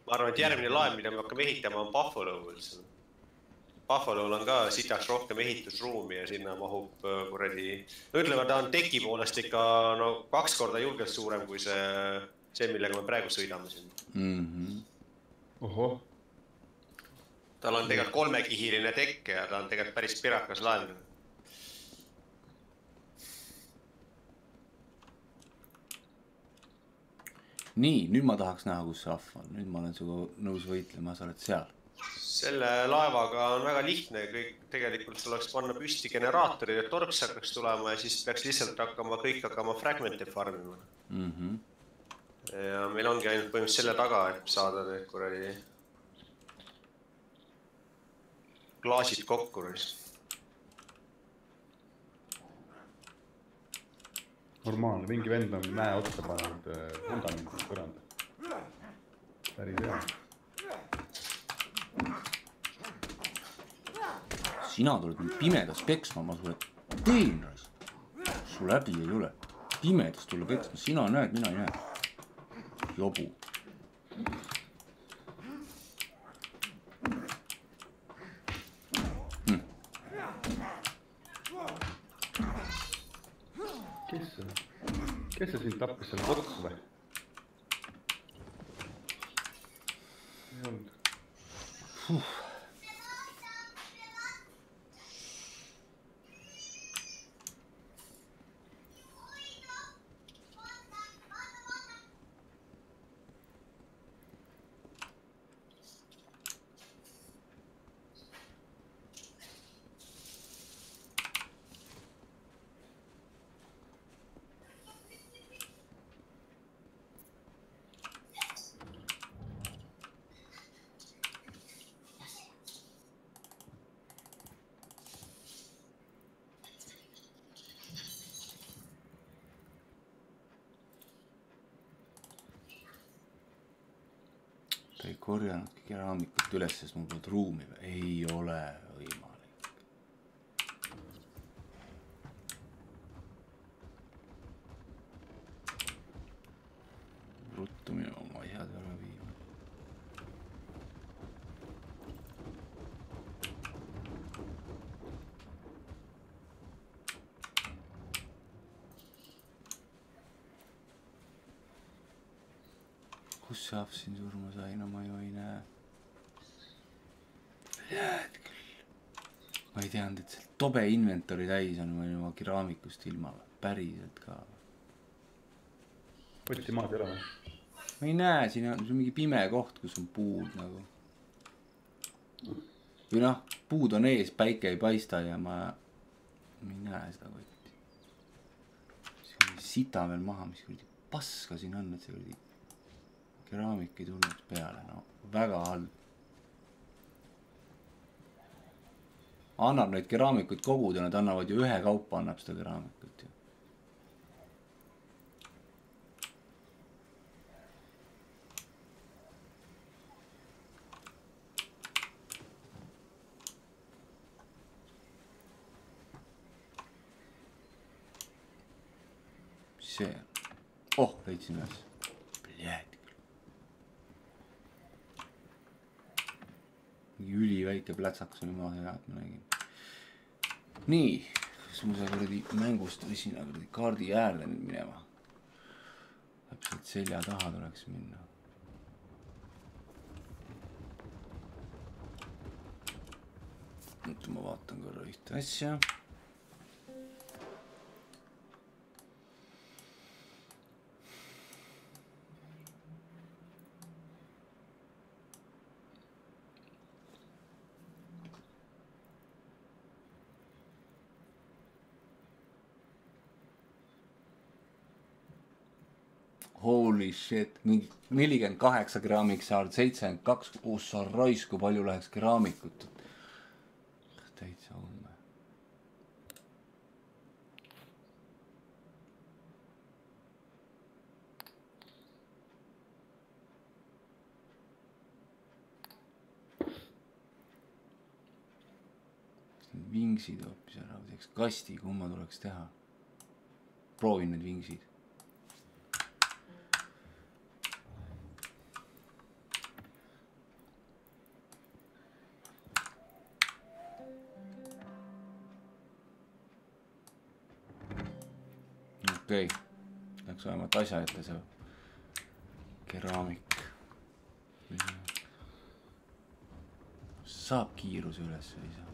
Ma arvan, et järgmine laev, mida me hakkame ehitama, on Buffalo üldse. Buffalo'l on ka sitaks rohkem ehitusruumi ja sinna mahub kuredi... No ütleme, ta on teki poolest ikka no, kaks korda julgelt suurem kui see, see, millega me praegu sõidame siin. Mm-hmm. Oho. Tal on tegelikult kolmekihiline tekk ja ta on tegelikult päris pirakas laev. Nii, nüüd ma tahaks näha, kus see ahv on. Nüüd ma olen suga nõus võitlema, sa oled seal. Selle laevaga on väga lihtne. Kõik tegelikult tuleks panna püsti generaatori, et torks hakkaks tulema ja siis peaks lihtsalt hakkama kõik hakkama fragmente farmima. Mm-hmm. Ja meil ongi ainult põhimõtteliselt selle taga, et saada need kuradi klaasid kokku. Normaalne, mingi vend on mäe otsa pannud fundamentit põranda. Päris hea. sina tuled mind pimedas peksma, ma sulle teen rais. Sul läbi ei ole. Pimedas tulla peksma, sina näed, mina ei näe. Jobu. Hm. Kes see? Kes see sind tappis selle kotku või? Ei olnud. Huh. Ta ei korjanudki keraamikut üles, sest mul polnud ruumi. Ei ole võimalik. Ruttu minu oma asjad ära viima. Kus see ahv siin surma sai? No ma ju ei näe. Jääd küll. Ma ei teanud, et see tobe inventori täis on või oma keraamikust ilma. Päriselt ka. Võtti maad ei ole või? Ma ei näe, siin on mingi pime koht, kus on puud nagu. Või noh, puud on ees, päike ei paista ja ma, ma ei näe seda kotti. See on sita veel maha, mis kuradi paska siin on, et see kuradi keraamik ei tulnud peale, no väga halb. Annab neid keraamikuid koguda, nad annavad ju ühe kaupa, annab seda keraamikut ju. Mis see on? Oh, leidsin ühes. Pljääd. Mingi üli väike plätsaks oli maha hea, et ma nägin. Nii, kas ma see kuradi mängust või sinna kuradi kaardi äärde nüüd minema? Täpselt selja taha tuleks minna. Nüüd ma vaatan korra ühte asja. Holy shit, mingi nelikümmend kaheksa keraamik saanud, seitsekümmend kaks, kus sa raisk, kui palju läheks keraamikut. Täitsa ulme. Vingsid hoopis ära, teeks kasti, kumma tuleks teha. Proovin need vingsid. Okei, okay. Läks vähemalt asja ette see keraamik. Saab kiiruse üles või ei saa?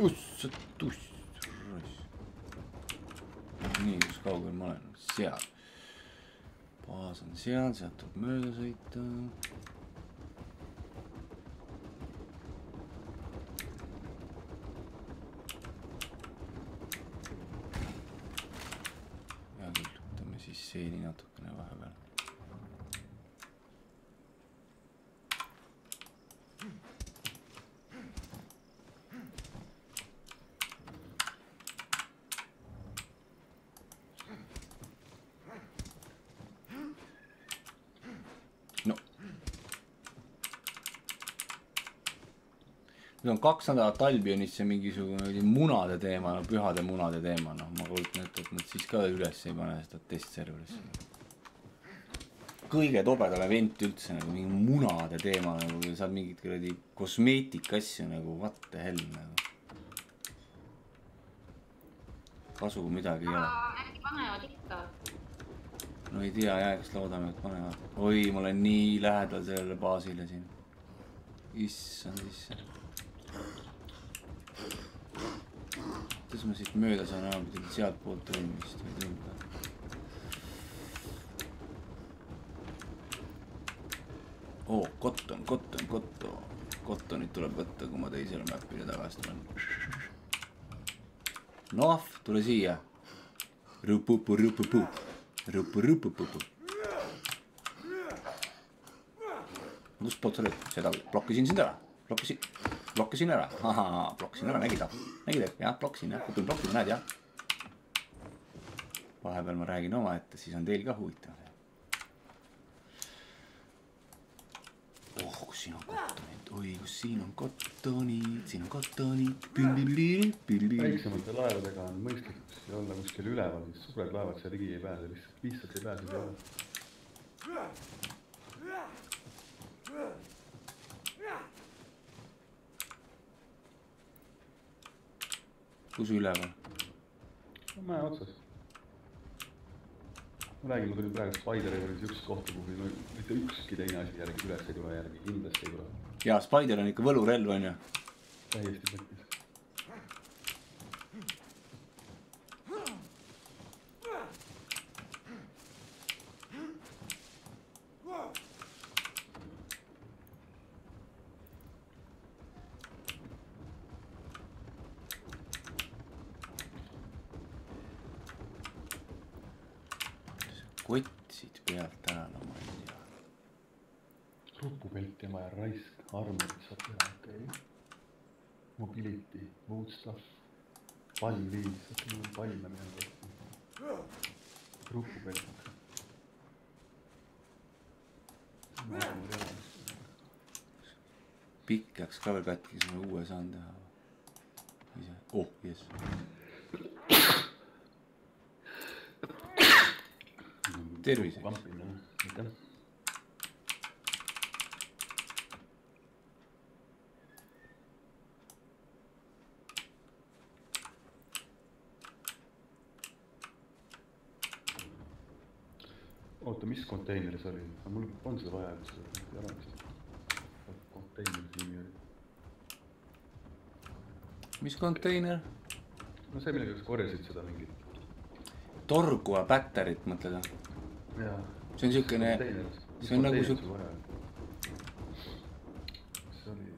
Ussa tuss. Nii, kus kaugel ma olen? Seal. Baas on seal, sealt tuleb mööda sõita. Hea küll, võtame siis seeni natukene vahepeal. nüüd on kaks nädalat Albionisse mingisugune munade teema, no pühade munade teema, noh, ma kujutan ette, et nad siis ka üles ei pane seda testserverisse. Kõige tobedam event üldse, nagu mingi munade teema, nagu saab mingit kuradi kosmeetika asju, nagu what the hell, nagu. Kasu midagi ei ole. Äkki panevad ikka? No ei tea, jah, kas loodame, et panevad. Oi, ma olen nii lähedal sellele baasile siin. Issand sisse. Kuidas ma siit mööda saan aru, mida sealt poolt tõimist või tõimda? Oo, kotton, kotton, kotto. Kottonit tuleb võtta, kui ma teisele mäppile tagasi tulen. Noh, tule siia. Rupupu, rupupu. Rupu, rupupupu. Kus poolt sa lööd? Seda blokkisin sind ära. Blokkisin, blokkisin ära. Ahaa, blokkisin ära, nägid? Nägid, jah, blokkisin, jah. Kutun blokkisin, näed, jah. Vahepeal ma räägin oma ette, siis on teil ka huvitav. Oh, kus siin on kottonid? Oi, kus siin on kottonid? Siin on kottonid. Väiksemate laevadega on mõistlik olla kuskil üleval, siis suured laevad seal ligi ei pääse, lihtsalt lihtsalt ei pääse ei ole. Kus üleval? No mäe otsas. Ma räägin, ma tulin praegu Spideri võrdes üks kohta, kuhu mitte ükski teine asi järgi üles ei tule järgi, kindlasti ei tule. Jaa, Spider on ikka võlurelv, on ju? Täiesti mõttis. Kotsid pealt ära, no ma ei tea. Rupupelt ja vaja raisk, armorit saab teha, okei. Okay. Mobility, mood stuff, pall viis, okei, okay, palle meil kohta. Rupupelt. Pikk jääks ka veel katki, siis ma uue saan teha. Ise, oh, jess. Tervise. Aitäh. Oota, mis konteineris oli? Mul on seda vaja, et seda ei ole vist. Konteineris nimi oli. Mis konteiner? No see, millega korjasid seda mingit. Torgua pätterit, mõtled? Jaa. See on siukene... See on nagu siuk... See oli...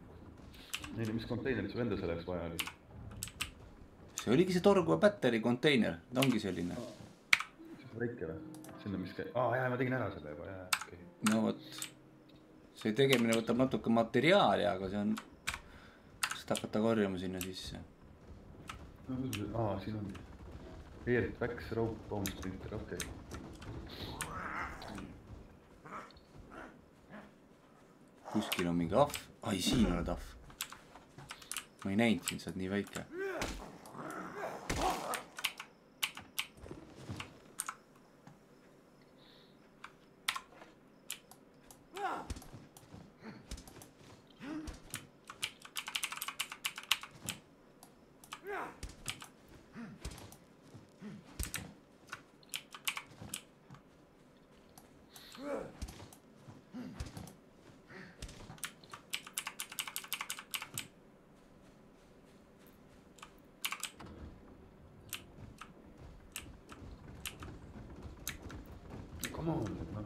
Neile, mis konteinerit su enda selleks vaja oli? See oligi see torgua pätteri konteiner. Ta ongi selline. See on väike või? Sinna mis käi... Aa, jah, ma tegin ära selle juba, jah, okei. Okay. No vot. See tegemine võtab natuke materiaali, aga see on... Seda hakata korjama sinna sisse. No, aa, siin on... Air Wax Rope Bone Splinter, okei. Okay. Kuskil on mingi ahv. Ai, siin oled ahv. Ma ei näinud siin, sa oled nii väike. Come on, no.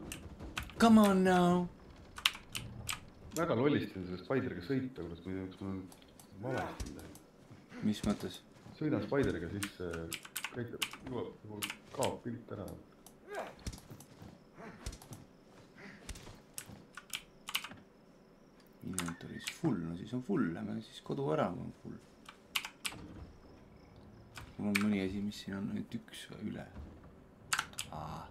Come on now. Väga lollistin selle Spideriga sõita, kuidas ma ei tea, mul on valesti midagi. Mis mõttes? Sõidan Spideriga, siis käitab, juba kaob pilt ära. Inventoris full, no siis on full, lähme siis kodu ära, kui on full. Mul on mõni asi, mis siin on nüüd üks või üle. Aa.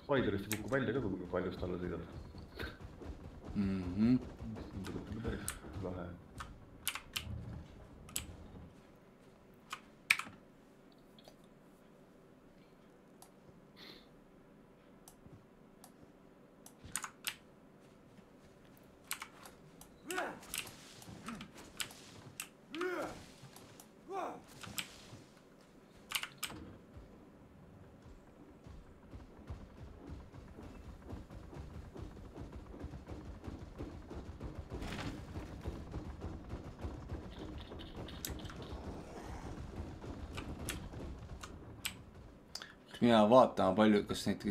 Spiderist kukub välja ka, kui paljust alla sõidad. Mhm. Tundub, et päris lahe. mina vaatama palju, kas neid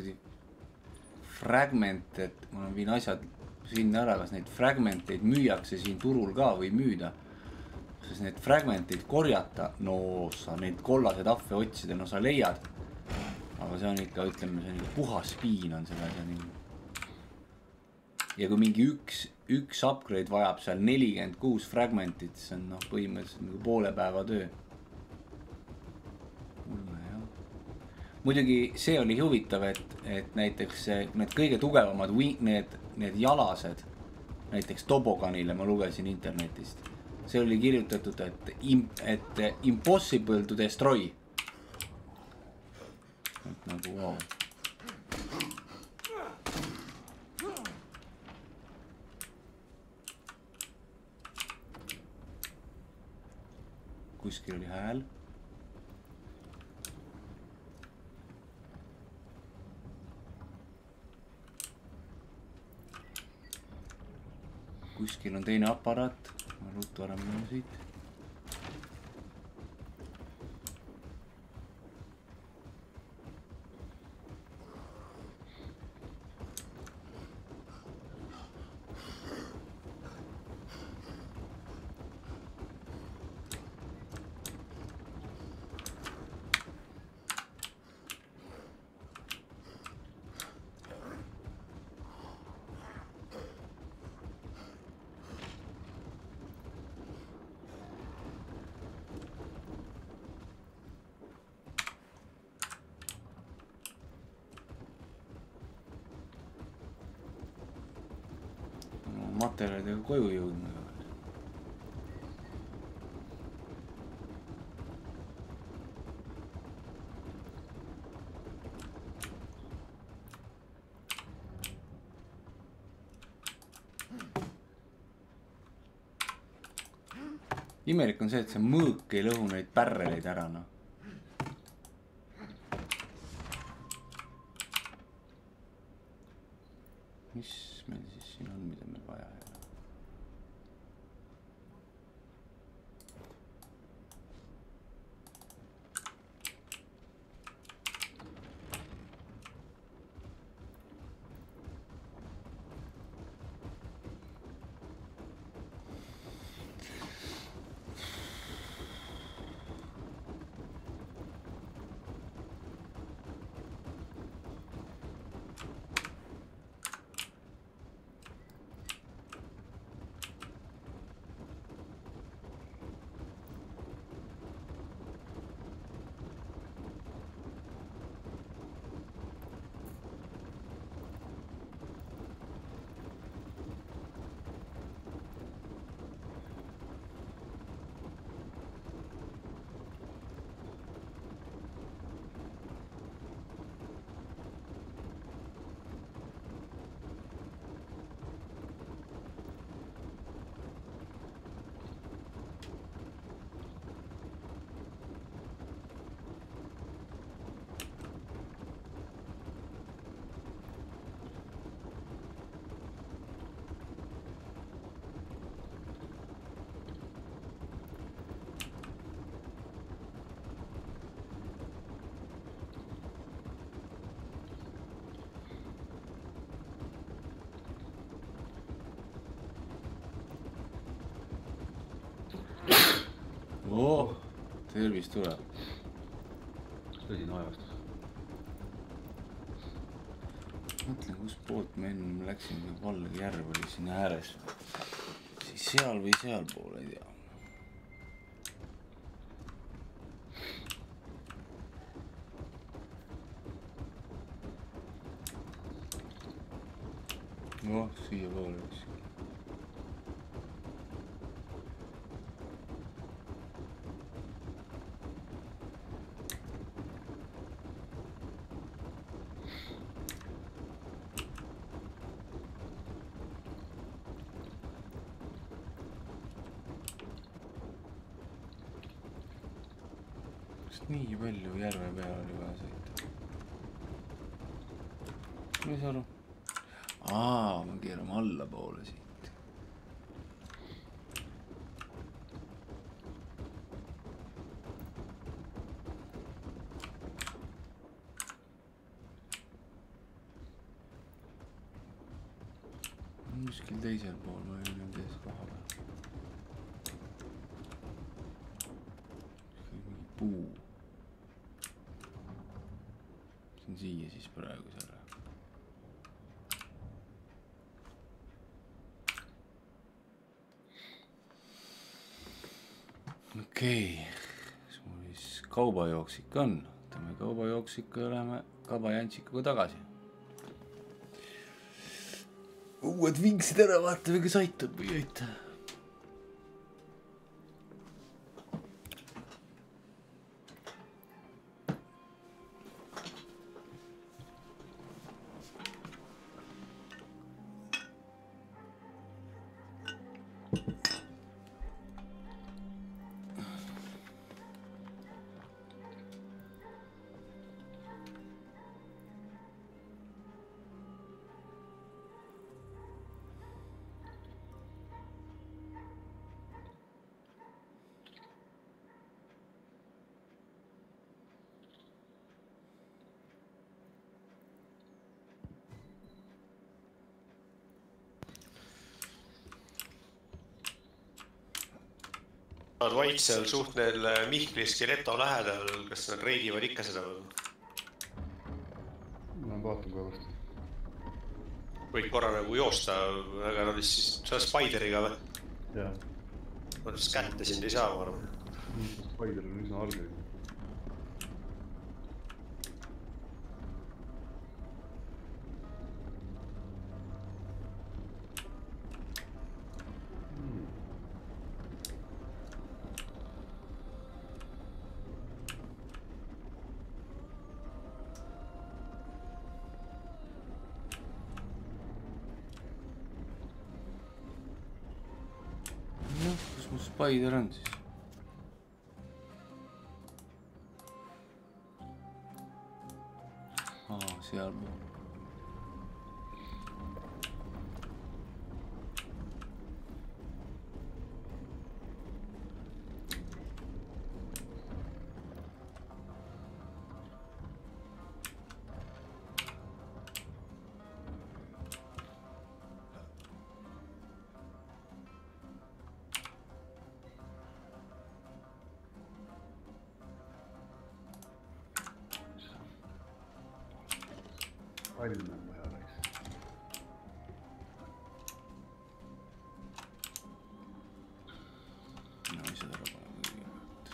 fragmente, et ma viin asjad sinna ära, kas neid fragmenteid müüakse siin turul ka või müüda. Sest need fragmenteid korjata, no sa neid kollaseid ahve otsida, no sa leiad. Aga see on ikka, ütleme, see on ikka puhas piin on selle asja nii. Ja kui mingi üks, üks upgrade vajab seal nelikümmend kuus fragmentit, see on noh, põhimõtteliselt nagu poole päeva töö. Muidugi see oli huvitav, et, et näiteks need kõige tugevamad need, need jalased, näiteks Toboganile ma lugesin internetist. See oli kirjutatud, et, et impossible to destroy. Et nagu wow. Kuskil oli hääl. Kuskil on teine aparaat, ma ruttu ära minna siit. Materjalidega koju jõudma. Imelik on see, et see mõõk ei lõhu neid pärreleid ära, noh. Mis meil siis siin on, mida meil vaja ei ole? Oh, tervist tuleb. Tõsine ajastus. Mõtlen, kus poolt me enne läksin, kui Valge järv oli sinna ääres. Siis seal või seal poole, ei tea. Oh, siia poole üks. Nii palju järve peal oli vaja sõita. Mis aru? Aa, ma keerame alla poole siit. kuskil teisel pool, ma ei ole tees koha peal. Mingi puu. See on siia siis praegu selle. Okei, kas mul siis kaubajooksik on? Võtame kaubajooksiku ja läheme kabajantsikuga tagasi. Uued vingsid ära, vaatame, kas aitab või ei aita. Nad vaid seal suht neil Mihkli Skeleto lähedal, kas nad reidivad ikka seda või? Ma vaatan kohe vastu. Võid korra nagu joosta, aga nad vist siis, sa oled Spideriga või? Jah. Ma vist kätte sind ei saa, ma arvan. Spider on üsna algel. Spider on siis. Aa, seal pool. Palju on vaja läks. No ei seda ära pole kõigepealt.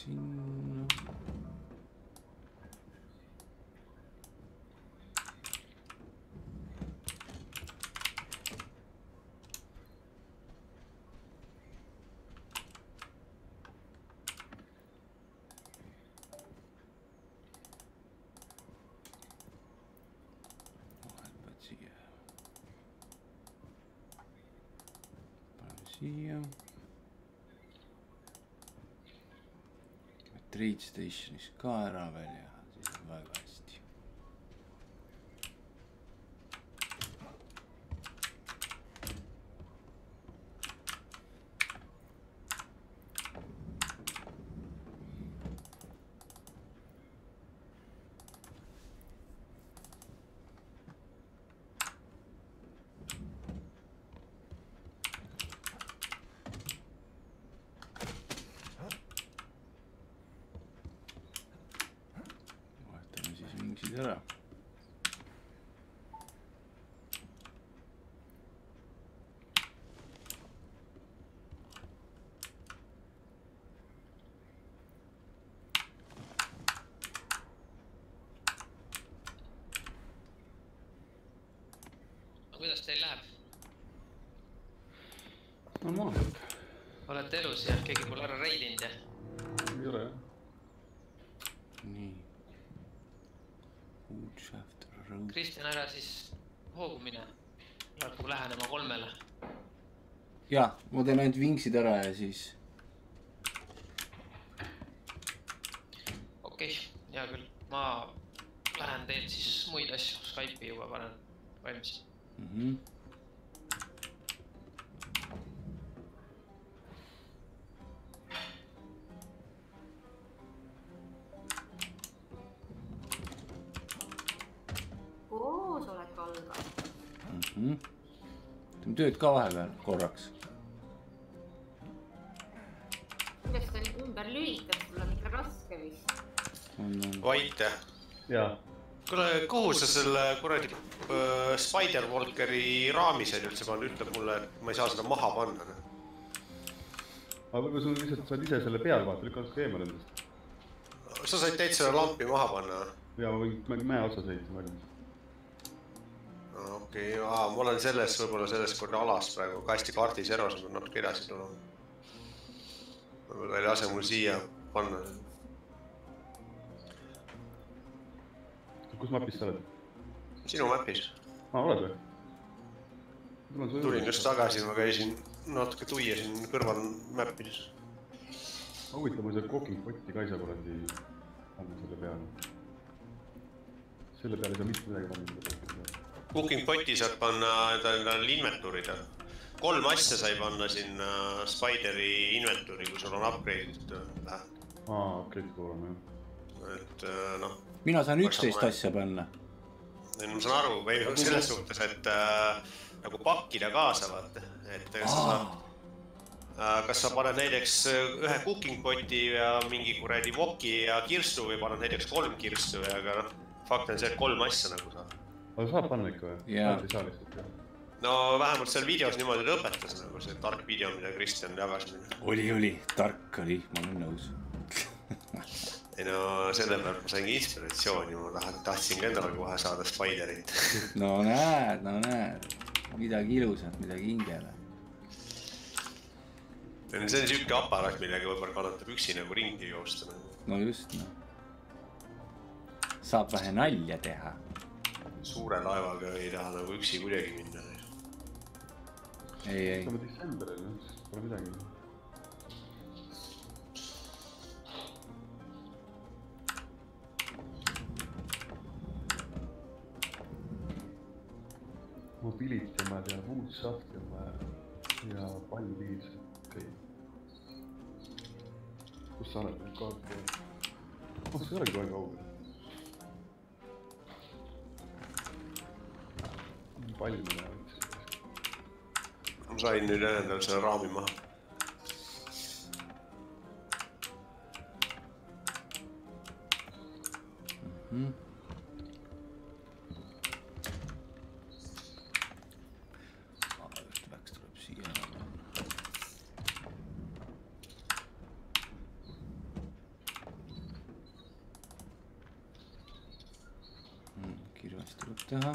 Sinna. Vahepeal siia. Paneme siia. Trade Stationis ka ära veel ja siis on väga hästi. kuidas teil läheb? Normaalselt. Olete elus ja keegi pole ära reidinud ja? Ei ole jah. nii. Woodshafter Road. Kristjan, ära siis hoogu mine. Läheb lähenema kolmele. Jaa, ma teen ainult vingsid ära ja siis... Okei, hea küll. Ma lähen teilt siis muid asju. Skype'i juba panen valmis. Mhm. Koosolek algab. Mhm. Teeme tööd ka vahepeal korraks. Kuidas ta ümber lülitab, sul on ikka raske vist. Vait. Jaa. Kuule, kuhu sa selle kuradi äh, Spider-Walkeri raamised üldse pannud, ütleb mulle, et ma ei saa seda maha panna. Aga võib-olla sul lihtsalt saad ise selle peal vaata, lükkad ka eemal endast. Sa said täitsa selle lampi maha panna? Jaa, ma võin mäe otsa sõita valmis. Okei, okay, ma olen selles, võib-olla selles korda alas praegu, kasti kaardis eros, ma natuke edasi tulema. Võib-olla ei lase mul siia panna. Kus mapis sa oled? Sinu mapis. Aa, oled või? Tulin just tagasi, ma käisin natuke tuiesin kõrval mapis. Ma huvitav, ma seda cooking potti ka ei saa kuradi panna selle peale. Selle peale ei saa mitte midagi panna. Cooking potti saad panna endale inventuurida. Kolm asja sai panna sinna Spideri inventuuri, kui sul on upgrade'id läheb. Aa, upgrade'id kuulama, jah. Et noh... Mina saan üksteist asja panna. Ma saan aru, või selles suhtes, et äh, nagu pakkida kaasa, vaata. Et kas sa, saad, äh, kas sa paned näiteks ühe cooking poti ja mingi kuradi voki ja kirstu või paned näiteks kolm kirstu, aga noh, fakt on see, et kolm asja nagu saab. Aga saab panna ikka või? Jaa. Ei saa lihtsalt, jah. No vähemalt seal videos niimoodi ta õpetas, nagu see tark video, mida Kristjan jagas. Oli, oli, tark oli, ma olen nõus. Ei no selle pealt ma saingi inspiratsiooni, ma tahtsin ka endale kohe saada Spiderit. No näed, no näed, midagi ilusat, midagi hingele. See on siuke aparaat, millega võib-olla kannatab üksi nagu ringi joosta. No just, no. Saab vähe nalja teha. Suure laevaga ei taha nagu üksi kuidagi minna. Ei, ei. Saame Decemberil, pole midagi. Mobility on vaja teha, Woodshafti on vaja ja palju viis. Okay. Kus sa oled need kaart teha? Oh, see ei olegi väga kaugel. Palju me läheb. Ma sain nüüd endal selle raami maha. Mhm. Kirvast tuleb teha.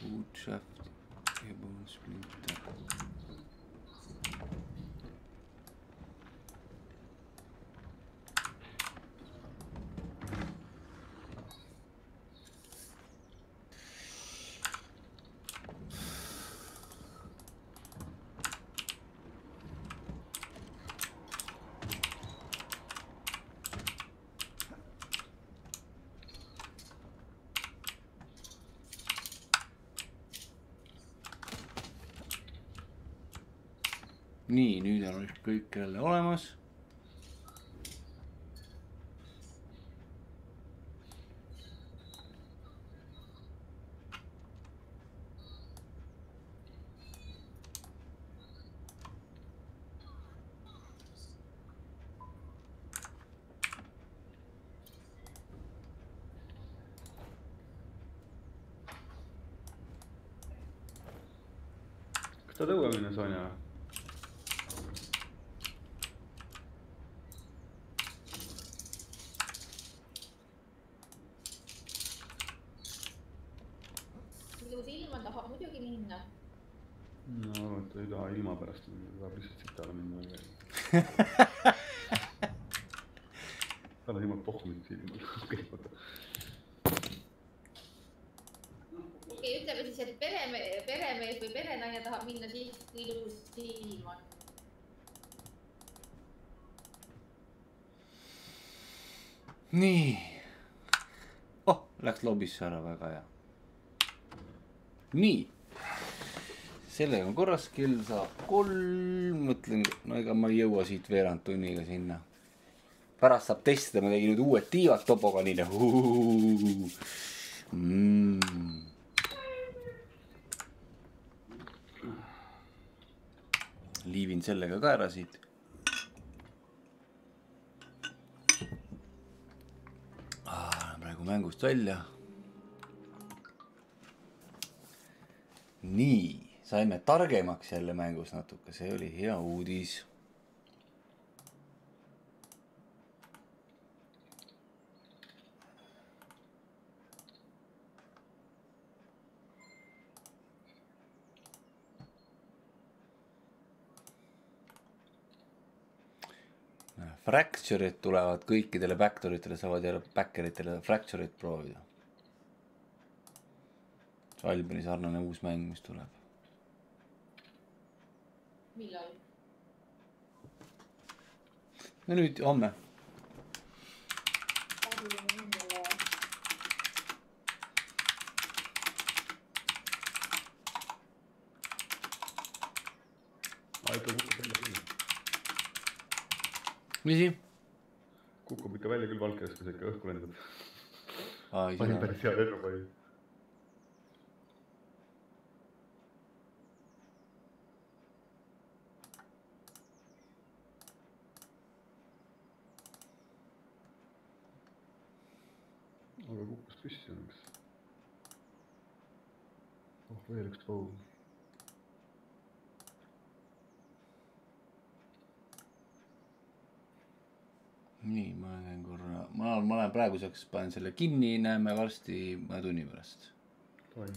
Woodshaft ja bone splitter. Nii, nüüd on kõik jälle olemas. Kas ta tõue minna, Sonja? võibki minna. No, et ei taha ilma pärast, tahab lihtsalt sitale minna. Tal on jumal pohmid silmal. Okei, vaata. Okei, ütleme siis, et pereme, peremees või perenaine tahab minna siis ilus silma. Nii. Oh, läks lobisse ära, väga hea. Nii. Sellega on korras, kell saab kolm, mõtlen, no ega ma ei jõua siit veerand tunniga sinna. Pärast saab testida, ma tegin nüüd uued tiivad topoganiile. Mm. Liivin sellega ka ära siit. Ah, praegu mängust välja. Nii. Saime targemaks jälle mängus natuke, see oli hea uudis. Fracture'id tulevad kõikidele backdoritele, saavad jälle backeritele fracture'id proovida. Albini sarnane uus mäng, mis tuleb. Millal? No nüüd, homme. Aika kukub välja küll. Misi? Kukub ikka välja küll valkest, kui see ikka õhku lendab. Ai, Panin päris hea lennu panin. Aga kukkus püsti õnneks. Oh, veel üks pool. Nii, ma lähen korra, ma, ma lähen praeguseks, panen selle kinni, näeme varsti mõne tunni pärast. Toim.